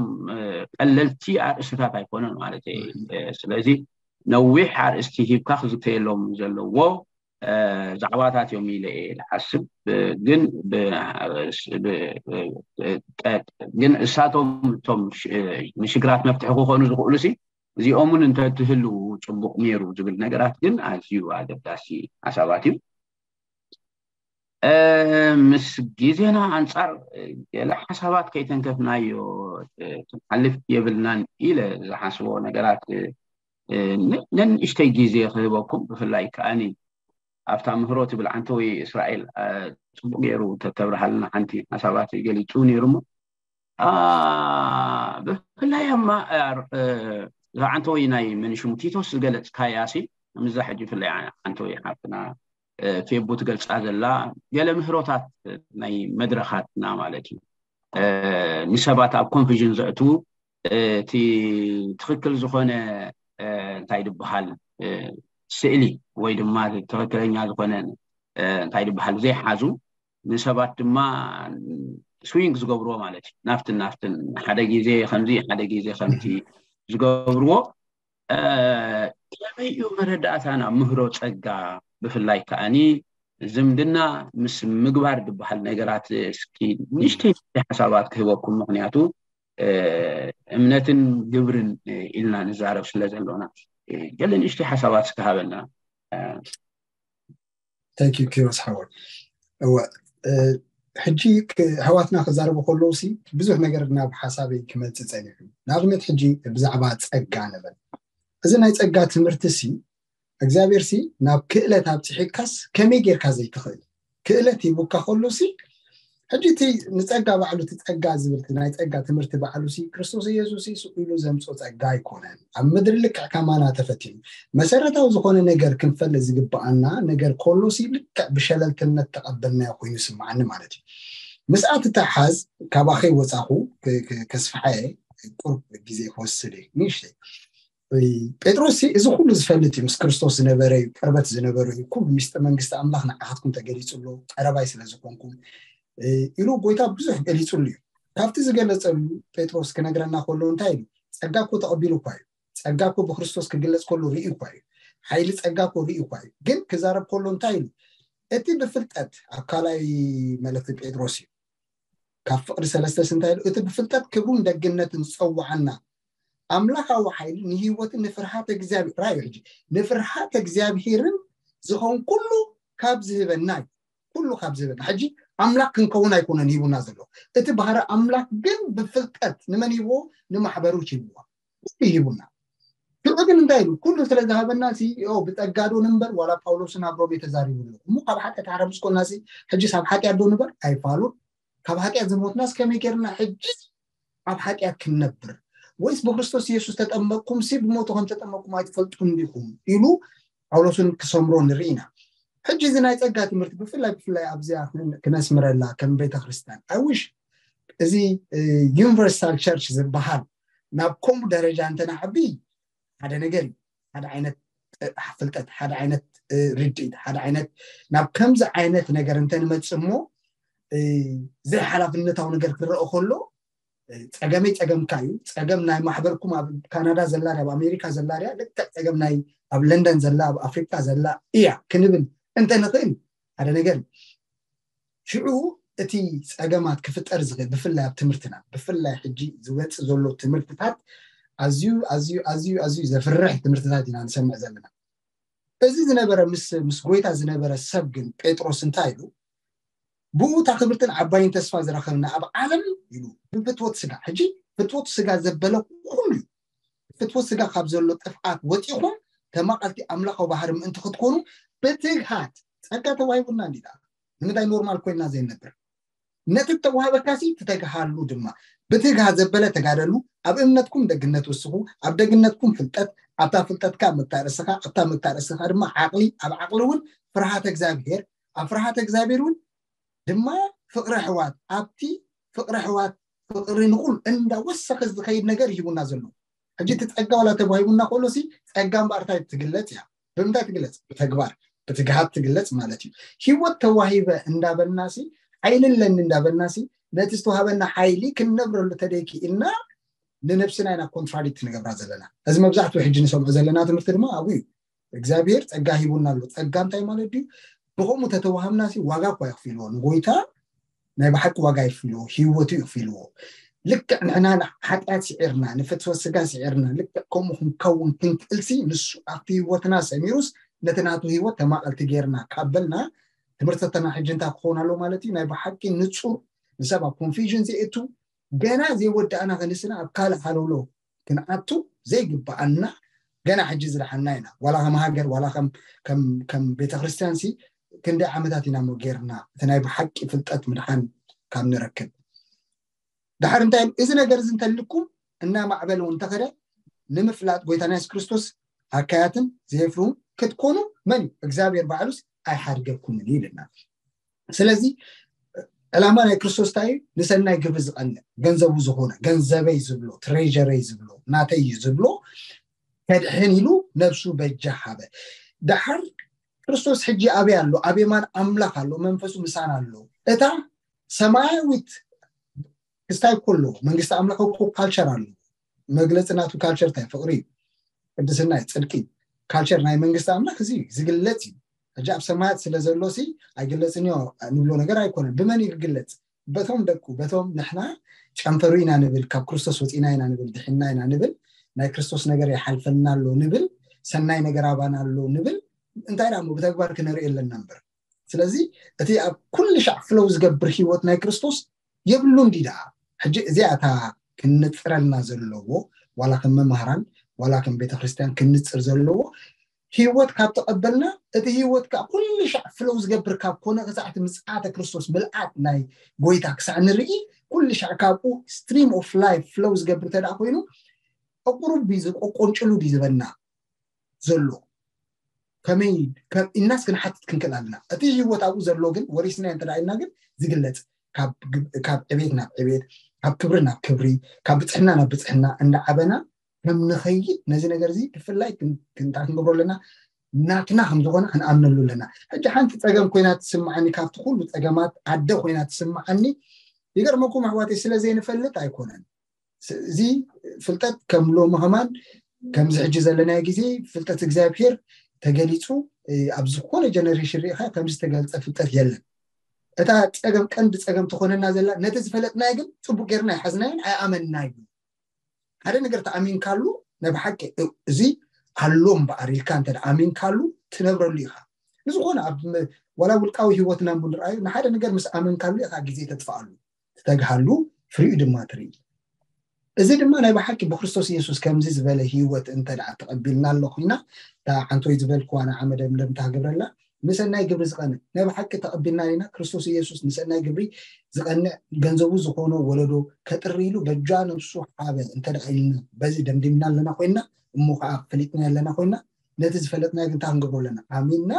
ቀለልቲ ኣርእስታት ኣይኮነን ማለት እዩ። ስለዚ ነዊሕ ኣርእስቲ ሂብካ ክዝተየሎም ዘለዎ ዛዕባታት እዮም ኢለ እየ ዝሓስብ። ግን ግን እሳቶም እቶም ንሽግራት መፍትሒ ክኾኑ ዝኽእሉ ሲ እዚኦምን እንተትህልዉ ፅቡቕ ነይሩ ዝብል ነገራት ግን ኣዝዩ ኣገዳሲ ሓሳባት እዩ። ምስ ግዜና ኣንፃር ገለ ሓሳባት ከይተንከፍናዮ ክንሓልፍ የብልናን ኢለ ዝሓስቦ ነገራት ነንእሽተይ ግዜ ክህበኩም ብፍላይ ከዓኒ ኣብታ ምህሮ ትብል ዓንተወይ እስራኤል ፅቡቅ ገይሩ ተተብርሃልና ሓንቲ ሓሳባት ገሊፁ ነይሩ እሞ ብፍላይ ኣማ ዓንተወይ ናይ መንሽሙ ቲቶስ ዝገለፅካያ ሲ ምዛ ሕጂ ብፍላይ ዓንተወይ ሓፍትና ፌቡ ትገልፃ ዘላ ገለ ምህሮታት ናይ መድረኻትና ማለት እዩ ንሰባት ኣብ ኮንፊዥን ዘእትዉ እቲ ትኽክል ዝኾነ እንታይ ድበሃል ስእሊ ወይ ድማ ትኽክለኛ ዝኾነ እንታይ ድበሃል ዘይሓዙ ንሰባት ድማ ስዊንግ ዝገብርዎ ማለት እዩ ናፍትን ናፍትን ሓደ ግዜ ከምዚ ሓደ ግዜ ከምዚ ዝገብርዎ ከመይ እዩ መረዳእታና ምህሮ ፀጋ ብፍላይ ከዓኒ ዝምድና ምስ ምግባር ዝበሃል ነገራት እስኪ ንእሽተይ ሓሳባት ክህበኩም ምክንያቱ እምነትን ግብርን ኢልና ንዛረብ ስለ ዘሎና ገለ ንእሽተይ ሓሳባት እስኪ ሃበና። Thank you ኪሮስ ሓወይ። እወ ሕጂ ኣሕዋትና ክዛረቡ ከለዉ ሲ ብዙሕ ነገር ናብ ሓሳበይ ክመፅእ ፀኒሑ። ንኣብነት ሕጂ ብዛዕባ ፀጋ ንበል። እዚ ናይ ፀጋ ትምህርቲ ሲ እግዚኣብሔር ሲ ናብ ክእለት ኣብፅሒካስ ከመይ ጌርካ ዘይትኽእል ክእለት ሂቡካ ከሎ ሲ ሕጂ እቲ ንፀጋ ባዕሉ እቲ ፀጋ ዝብል ናይ ፀጋ ትምህርቲ ባዕሉ ሲ ክርስቶስ ኢየሱስ ስቕ ኢሉ ዘምፆ ፀጋ ኣይኮነን። ኣብ ምድሪ ልክዕ ከማና ተፈቲኑ መሰረታዊ ዝኾነ ነገር ክንፈልጥ ዝግበኣና ነገር ከሎ ሲ ልክዕ ብሸለልትነት ተቐበልናዮ ኮይኑ ይስምዓኒ ማለት እዩ። ምስኣ ትተሓዝ ካባኸይ ወፃኹ ከስፍሓየ ቁርብ ግዜ ክወስድ እዩ ንእሽተይ ጴጥሮስ እዚ ኩሉ ዝፈልጥ እዩ። ምስ ክርስቶስ ዝነበረ እዩ፣ ቅርበት ዝነበረ እዩ። ኩሉ ሚስጥር መንግስቲ ኣምላኽ ንዓኻትኩም ተገሊጹ ኣሎ፣ ቀረባይ ስለ ዝኾንኩም ኢሉ ጎይታ ብዙሕ ገሊጹሉ እዩ። ካብቲ ዝገለጸሉ ጴጥሮስ ክነግረና ከሎ እንታይ ኢሉ? ጸጋ እኮ ተቐቢሉ እኳ እዩ። ጸጋ እኮ ብክርስቶስ ክግለጽ ከሎ ርእዩ እኳ እዩ። ሓይሊ ጸጋ እኮ ርእዩ እኳ እዩ። ግን ክዛረብ ከሎ እንታይ ኢሉ? እቲ ብፍልጠት፣ ኣብ ካልኣይ መልእኽቲ ጴጥሮስ እዩ፣ ካብ ፍቕሪ ሰለስተ እንታይ ኢሉ? እቲ ብፍልጠት ክብሩን ደግነትን ዝጸውዓና ኣምላኻዊ ሓይሊ ንህይወትን ንፍርሃት እግዚኣብሔር ራዩ ሕጂ ንፍርሃት እግዚኣብሔርን ዝኸውን ኩሉ ካብ ዝህበና እዩ። ኩሉ ካብ ዝህበና ሕጂ ኣምላኽ ክንከውን ኣይኮነን ሂቡና ዘሎ። እቲ ባህሪ ኣምላኽ ግን ብፍልጠት ንመን ሂብዎ? ንማሕበሩ ሂብዎ። ኩሉ ሂቡና። ሽዑ ግን እንታይ ኢሉ? ኩሉ ስለ ዝሃበና ሲ ብጸጋዶ ንንበር ዋላ ጳውሎስን ኣብ ሮሜ ተዛሪቡ ኣሎ። እሞ ካብ ሓጢኣት ሓረምስ ኮና ሲ ሕጂ ሳብ ሓጢኣት ዶ ንበር? ኣይፋሉን። ካብ ሓጢኣት ዝሞትናስ ከመይ ጌርና ሕጂ ኣብ ሓጢኣት ክንነብር? ወይስ ብክርስቶስ ኢየሱስ ተጠመቅኩም ሲ ብሞቱ ከም ተጠመቅኩም ኣይትፈልጡን ዲኹም? ኢሉ ጳውሎስን ክሰምሮ ንርኢ ኢና። ሕጂ እዚ ናይ ጸጋ ትምህርቲ ብፍላይ ብፍላይ ኣብዚኣ ክነስምረላ ከም ቤተ ክርስቲያን ኣይ ዊሽ እዚ ዩኒቨርሳል ቸርች ዝበሃል ናብ ከምኡ ደረጃ እንተናዕቢ ሓደ ነገር እዩ። ሓደ ዓይነት ፍልጠት፣ ሓደ ዓይነት ርድኢት፣ ሓደ ዓይነት ናብ ከምዚ ዓይነት ነገር እንተንመጽእ እሞ ዘይሓላፍነታዊ ነገር ክረአ ከሎ ጸገመይ ጸገምካ እዩ። ጸገም ናይ ማሕበርኩም ኣብ ካናዳ ዘላ ድያ፣ ኣብ ኣሜሪካ ዘላ ድያ፣ ልክዕ ጸገም ናይ ኣብ ለንደን ዘላ ኣብ ኣፍሪቃ ዘላ እያ ክንብል እንተንኽእል ሓደ ነገር እዩ። ሽዑ እቲ ጸገማት ክፍጠር ዝኽእል ብፍላይ ኣብ ትምህርትና ብፍላይ ሕጂ ዝወጽእ ዘሎ ትምህርትታት ኣዝዩ ኣዝዩ ኣዝዩ ኣዝዩ ዘፍርሕ ትምህርትታት ኢና ንሰምዕ ዘለና። እዚ ዝነበረ ምስ ምስ ጎይታ ዝነበረ ሰብ ግን ጴጥሮስ እንታይ ኢሉ? ብኡ እታ ክብርትን ዓባይን ተስፋ ዝረኸብና ኣብ ዓለም ኢሉ ብፍትወት ስጋ፣ ሕጂ ፍትወት ስጋ ዘበለ ኩሉ እዩ። ፍትወት ስጋ ካብ ዘሎ ጥፍኣት ወፂኹም ተማቐልቲ ኣምላኻዊ ባህሪ ምእንቲ ክትኮኑ ብትግሃት ጸጋ ተዋሂቡና እንዲዳ ንምንታይ ኖርማል ኮይና ዘይነብር ነቲ ተዋህበካ ሲ ትተግሃሉ ድማ ብትግሃት ዘበለ ተጋደሉ። ኣብ እምነትኩም ደግነት ውስኹ፣ ኣብ ደግነትኩም ፍልጠት፣ ኣብታ ፍልጠትካ መታርእስኻ፣ ኣብታ መታርእስኻ ድማ ዓቕሊ፣ ኣብ ዓቕሊ እውን ፍርሃተ እግዚኣብሔር፣ ኣብ ፍርሃተ እግዚኣብሔር እውን ድማ ፍቕሪ ኣሕዋት፣ ኣብቲ ፍቕሪ ኣሕዋት ፍቕሪ ንኹል እንዳወሰኸ ዝኸይድ ነገር ይሂቡና ዘሎ። ሕጂ እቲ ጸጋ ዋላ ተዋሂቡና ከሎ ሲ ጸጋ እምበኣር እንታይ ትግለጽ እያ? ብምንታይ ትግለጽ? ብተግባር ብትግሃት ትግለጽ ማለት እዩ። ህይወት ተዋሂበ እንዳበልናሲ ሓይሊ ኣለኒ እንዳበልናሲ ነቲ ዝተዋሃበና ሓይሊ ክንነብረሉ ተደይኪ ኢልና ንነብስና ኢና ኮንትራዲክት ንገብራ ዘለና። እዚ መብዛሕትኡ ሕጂ ንሰምዖ ዘለና ትምህርቲ ድማ ኣብኡ እዩ። እግዚኣብሔር ጸጋ ሂቡና ኣሎ። ጸጋ እንታይ ማለት ድዩ? ብኸምኡ ተተዋሃምናሲ ዋጋ እኳ ይኽፊልዎ ንጎይታ ናይ ብሓቂ ዋጋ ይኽፊልዎ፣ ህይወቱ ይኽፊልዎ። ልክዕ ንሕና ንሓጢኣት ስዒርና ንፍትወት ስጋ ስዒርና ልክዕ ከምኡ ክንከውን ክንክእልሲ ንሱ ኣብቲ ህይወትና ሰሚሩስ ነቲ ናቱ ህይወት ተማቐልቲ ጌርና ካብ በልና ትምህርትተና ሕጂ እንታይ ክኸውን ኣሎ ማለት እዩ? ናይ ብሓቂ ንጹር ንሰብ ኣብ ኮንፊዥን ዘእቱ ገና ዘይወዳእና ከንስና ኣብ ካልእ ሃለውሎ ክንኣቱ ዘይግብኣና ገና ሕጂ ዝደሓና ኢና። ዋላ ከም ሃገር ዋላ ከም ቤተክርስትያን ሲ ክንደይ ዓመታት ኢና ሞ ጌርና እቲ ናይ ብሓቂ ፍልጠት ምድሓን ካብ ንረክብ። ድሓር እንታይ እዚ ነገር እዚ እንተልኩም እናማዕበለ እውን እንተኸደ ንምፍላጥ ጎይታና የሱስ ክርስቶስ ኣካያትን ዘየፍርሁን ክትኮኑ መን እዩ እግዚኣብሔር ባዕሉስ ኣይሓድገኩምን እዩ ይብለና። ስለዚ ዕላማ ናይ ክርስቶስ እንታይ እዩ? ንሰናይ ግብሪ ዝቐንእ ገንዘቡ ዝኾነ ገንዘበይ ዝብሎ ትሬጀረይ ዝብሎ ናተይ እዩ ዝብሎ ከድሕን ኢሉ ነብሱ በጃ ሃበ። ድሓር ክርስቶስ ሕጂ ኣበይ ኣሎ? ኣብ የማን ኣምላኽ ኣሎ፣ መንፈሱ ምሳና ኣሎ። እታ ሰማያዊት ክስታይ ከሎ መንግስቲ ኣምላኽ እኮ ካልቸር ኣሎ። መግለፂ ናቱ ካልቸር እንታይ ፍቕሪ እዩ፣ ቅድስና እዩ፣ ፅድቂ እዩ። ካልቸር ናይ መንግስቲ ኣምላኽ እዚ እዩ ዝግለፅ እዩ። ሕጂ ኣብ ሰማያት ስለ ዘሎ ሲ ኣይግለፅን እዮ ንብሎ ነገር ኣይኮነን። ብመን እዩ ክግለፅ? በቶም ደቁ በቶም ንሕና ጨንፈሩ ኢና ንብል፣ ካብ ክርስቶስ ወፂና ኢና ንብል፣ ድሕና ኢና ንብል፣ ናይ ክርስቶስ ነገር ይሓልፈልና ኣሎ ንብል፣ ሰናይ ነገር ኣባና ኣሎ ንብል። እንታይ ዳ ብተግባር ክነርኢ ኣለና እምበር። ስለዚ እቲ ኣብ ኩሉ ሻዕ ፍለው ዝገብር ህይወት ናይ ክርስቶስ የብሉ እንዲ ደኣ። ሕጂ እዚኣ እታ ክንጽረልና ዘለዎ ዋላ ከም መማህራን ዋላ ከም ቤተክርስትያን ክንጽር ዘለዎ ህይወት ካብ ተቐበልና እቲ ህይወት ከዓ ኩሉ ሻዕ ፍለው ዝገብር ካብ ኮነ ክሳዕ እቲ ምጽኣተ ክርስቶስ ምልኣት ናይ ጎይታ ክሳዕ ንርኢ ኩሉ ሻዕ ካብኡ stream of life flow ዝገብር እንተ ደኣ ኮይኑ ኣቁሩብ ድዩ ዝቆቆንጭሉ ድዩ ዝበና ዘሎ ከመይ ኢልናስ ክንሓትት ክንክእል ኣለና። እቲ ህይወት ኣብኡ ዘሎ ግን ወሪስናዮ እንተ ኢልና ግን ዝግለፅ ካብ ዕቤት ናብ ዕቤት ካብ ክብሪ ናብ ክብሪ ካብ ብፅሕና ናብ ብፅሕና እንዳዓበና ከም ንኸይድ ነዚ ነገር እዚ ብፍላይ ክንታ ክንገብሮ ኣለና፣ ናትና ከም ዝኾነ ክንኣምነሉ ኣለና። ሕጂ ሓንቲ ፀገም ኮይና ትስምዓኒ፣ ካብቲ ኩሉ ፀገማት ኣደ ኮይና ትስምዓኒ። ይገርመኩም ኣሕዋተይ፣ ስለ ዘይንፈልጥ ኣይኮነን። እዚ ፍልጠት ከም ሎሚ ከማን ከምዚ ሕጂ ዘለናዮ ግዜ ፍልጠት እግዚኣብሔር ተገሊጹ ኣብ ዝኾነ ጀነሬሽን ርኢኻ ከምዚ ዝተገልጸ ፍልጠት የለን። እታ ጸገም ቀንዲ ጸገም ትኾነና ዘላ ነቲ ዝፈለጥናዮ ግን ጽቡቅ ጌርና ኣይሓዝናዮን ኣይኣመንናዮ። ሓደ ነገር ተኣሚንካሉ ናይ ብሓቂ እዚ ኣሎ እምበኣር ኢልካ እንተ ኣሚንካሉ ትነብረሉ ኢኻ። ንዝኾነ ኣብ ዋላ ውልቃዊ ህይወትና ንርኣዩ ንሓደ ነገር ምስ ኣመንካሉ ኢኻ ግዜ ተጥፍኣሉ፣ ትተግሃሉ፣ ፍሪኡ ድማ ትርኢ። እዚ ድማ ናይ ብሓቂ ብክርስቶስ ኢየሱስ ከምዚ ዝበለ ህይወት እንተ ደኣ ተቐቢልና ኣሎ ኮይና፣ እታ ሓንቲ ወይ ዝበልክዋ ንዓ መደምደምታ ክገብረላ፣ ንሰናይ ግብሪ ዝቐንእ ናይ ብሓቂ ተቐቢልና ኢና። ክርስቶስ ኢየሱስ ንሰናይ ግብሪ ዝቐንእ ገንዘቡ ዝኾኖ ወለዶ ከጥሪ ኢሉ በጃ ነብሱ ሓበ እንተ ደኣ ኢልና፣ በዚ ደምዲምና ኣለና ኮይና፣ እሞ ከዓ ፈሊጥና ኣለና ኮይና፣ ነቲ ዝፈለጥናዮ ግን እንታይ ክንገብሮ ኣለና? ኣሚንና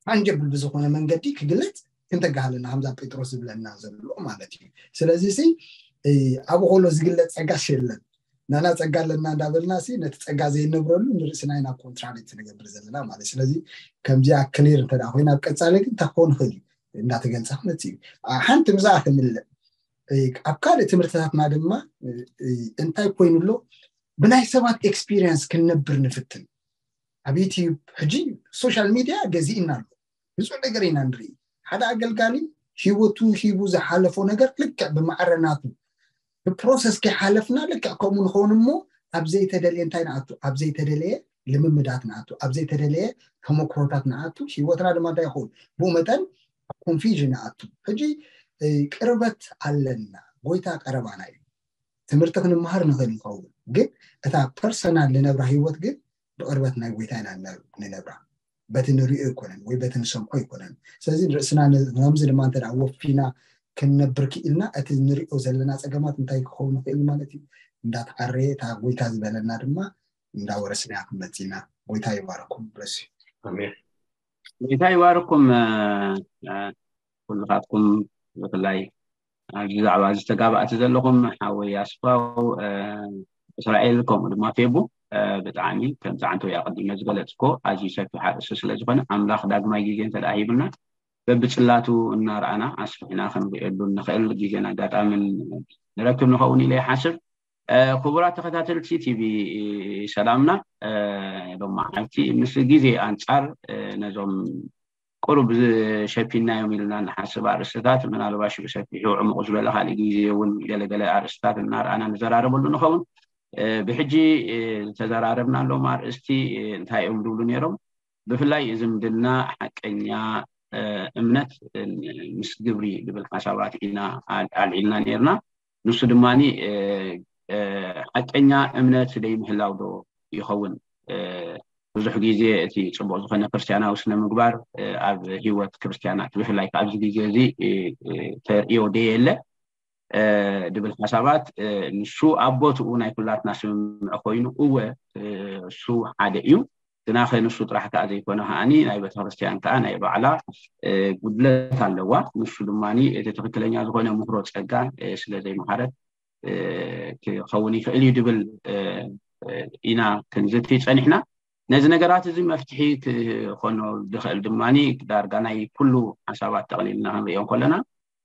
ታንጀብል ብዝኾነ መንገዲ ክግለጽ ክንተጋሃለና ከምዛ ጴጥሮስ ዝብለና ዘሎ ማለት እዩ። ስለዚ ሲ ኣብ ኾሎ ዝግለጽ ጸጋስ የለን። ናና ጸጋ ኣለና እንዳበልና ሲ ነቲ ጸጋ ዘይነብረሉ ንርእስና ኢና ኮንትራዲክት ንገብር ዘለና ማለት። ስለዚ ከምዚኣ ክሊር እንተ ደኣ ኮይና ኣብ ቀጻሊ ግን እንታይ ክኸውን ይኽእል እዩ እንዳተገልጸ ክመጽእ እዩ። ሓንቲ ምዛ ክምልእ ኣብ ካልእ ትምህርትታትና ድማ እንታይ ኮይኑ ኣሎ ብናይ ሰባት ኤክስፒሪየንስ ክንነብር ንፍትን። ኣብ ዩቲዩብ ሕጂ ሶሻል ሚድያ ገዚእና ኣሎ። ብዙሕ ነገር ኢና ንርኢ። ሓደ ኣገልጋሊ ህይወቱ ሂቡ ዝሓለፎ ነገር ልክዕ ብማዕረ ናቱ ብፕሮሰስ ከይሓለፍና ልክዕ ከምኡ ንኸውን እሞ ኣብ ዘይተደልየ እንታይ ንኣቱ ኣብ ዘይተደለየ ልምምዳት ንኣቱ ኣብ ዘይተደለየ ተመክሮታት ንኣቱ ህይወትና ድማ እንታይ ይኸውን ብኡ መጠን ኮንፊዥን ንኣቱ። ሕጂ ቅርበት ኣለና። ጎይታ ቀረባና እዩ። ትምህርቲ ክንመሃር ንኽእል ንኸውን ግን እታ ፐርሰናል ንነብራ ህይወት ግን ብቕርበት ናይ ጎይታ ኢና ንነብራ። በቲ ንሪኦ ኣይኮነን ወይ በቲ ንሰምዖ ኣይኮነን። ስለዚ ርእስና ከምዚ ድማ እንተ ወፊና ክንነብር ክኢልና እቲ ንሪኦ ዘለና ፀገማት እንታይ ክኸውን ይኽእል ማለት እዩ። እንዳተዓረየ እታ ጎይታ ዝበለና ድማ እንዳወረስናያ ክንመፅእ ኢና። ጎይታ ይባረኩም። ብለስ ጎይታ ይባረኩም። ኩልኻትኩም ብፍላይ ኣብዚ ዛዕባ እዚ ተጋባእቲ ዘለኹም ሓወይ ኣስፋው እስራኤል ከምኡ ድማ ፌቡ ብጣዕሚ ከምዚ ዓንተው ኣቐዲመ ዝገለፅኮ ኣዝዩ ሰፊሕ ኣርእስቲ ስለ ዝኾነ ኣምላኽ ዳግማይ ግዜ እንተ ሂብና በብፅላቱ እናረኣና ኣስፍሕና ክንሪኤሉ ንኽእል ግዜን ኣጋጣምን ንረክብ ንኸውን ኢለ ይሓስብ። ክቡራት ተኸታተልቲ ቲቪ ሰላምና ሎማዓልቲ ምስ ግዜ ኣንፃር ነዞም ቁሩብ ዝሸፊናዮም ኢልና ንሓስብ ኣርእስትታት ምናልባሽ ብሰፊሑ ዕሙቕ ዝበለ ካልእ ግዜ እውን ገለገለ ኣርእስትታት እናረኣና ንዘራረበሉ ንኸውን። ብሕጂ ዝተዘራረብናሎም ኣርእስቲ እንታይ እዮም ዝብሉ ነይሮም? ብፍላይ ዝምድና ሓቀኛ እምነት ምስ ግብሪ ዝብል ሓሳባት ኢና ኣልዒልና ነይርና። ንሱ ድማ ሓቀኛ እምነት ደይምህላው ዶ ይኸውን? ብዙሕ ግዜ እቲ ፅቡቕ ዝኾነ ክርስትያናዊ ስነ ምግባር ኣብ ህይወት ክርስትያናት ብፍላይ ኣብዚ ግዜ እዚ ተርእዮ ደየለ ድብል ሓሳባት ንሱ ኣብ ቦትኡ ናይ ኩላትና ስምምዕ ኮይኑ እወ እሱ ሓደ እዩ። ግናኸ ንሱ ጥራሕ ከዓ ዘይኮነ ከዓኒ ናይ ቤተክርስትያን ከዓ ናይ ባዕላ ጉድለት ኣለዋ። ንሱ ድማ እቲ ትክክለኛ ዝኾነ ምህሮ ፀጋ ስለ ዘይመሃረት ክኸውን ይኽእል እዩ ድብል ኢና ክንዝቲ ፀኒሕና። ነዚ ነገራት እዚ መፍትሒ ክኾኖ ዝኽእል ድማ ዳርጋ ናይ ኩሉ ሓሳባት ጠቕሊልና ክንሪኦ ከለና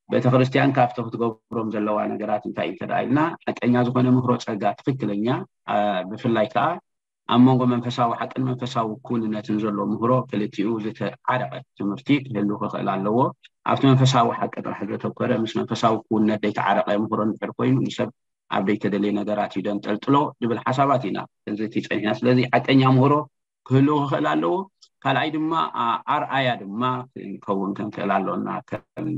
ቤተክርስትያን ካብቲ ክትገብሮም ዘለዋ ነገራት እንታይ እዩ እንተደኣ ኢልና ሓቀኛ ዝኾነ ምህሮ ፀጋ ትክክለኛ ብፍላይ ከዓ ኣብ መንጎ መንፈሳዊ ሓቅን መንፈሳዊ ክውንነትን ዘሎ ምህሮ ክልቲኡ ዝተዓረቐ ትምህርቲ ክህሉ ክኽእል ኣለዎ። ኣብቲ መንፈሳዊ ሓቂ ጥራሕ ዘተኮረ ምስ መንፈሳዊ ክውነት ዘይተዓረቐ ምህሮ እንድሕር ኮይኑ ንሰብ ኣብ ዘይተደለየ ነገራት እዩ ደንጠልጥሎ ዝብል ሓሳባት ኢና ክንዝቲ ፀኒሕና። ስለዚ ሓቀኛ ምህሮ ክህልው ክኽእል ኣለዎ። ካልኣይ ድማ ኣርኣያ ድማ ክንከውን ክንክእል ኣለና። ከም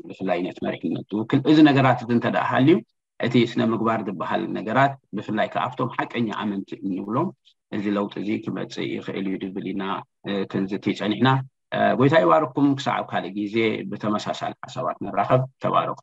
ብፍላይ ነቲ መሪሕነት ዝውክል እዚ ነገራት እዚ እንተ ደኣ ሃልዩ እቲ ስነ ምግባር ዝበሃል ነገራት ብፍላይ ከኣብቶም ሓቀኛ ኣመንቲ እንብሎም እዚ ለውጢ እዚ ክመፅእ ይኽእል እዩ ድብል ኢና ክንዝቲ ፀኒሕና። ጎይታ ይባርኩም። ክሳዕ ኣብ ካልእ ግዜ ብተመሳሳሊ ሓሳባት ንራኸብ። ተባረኹ።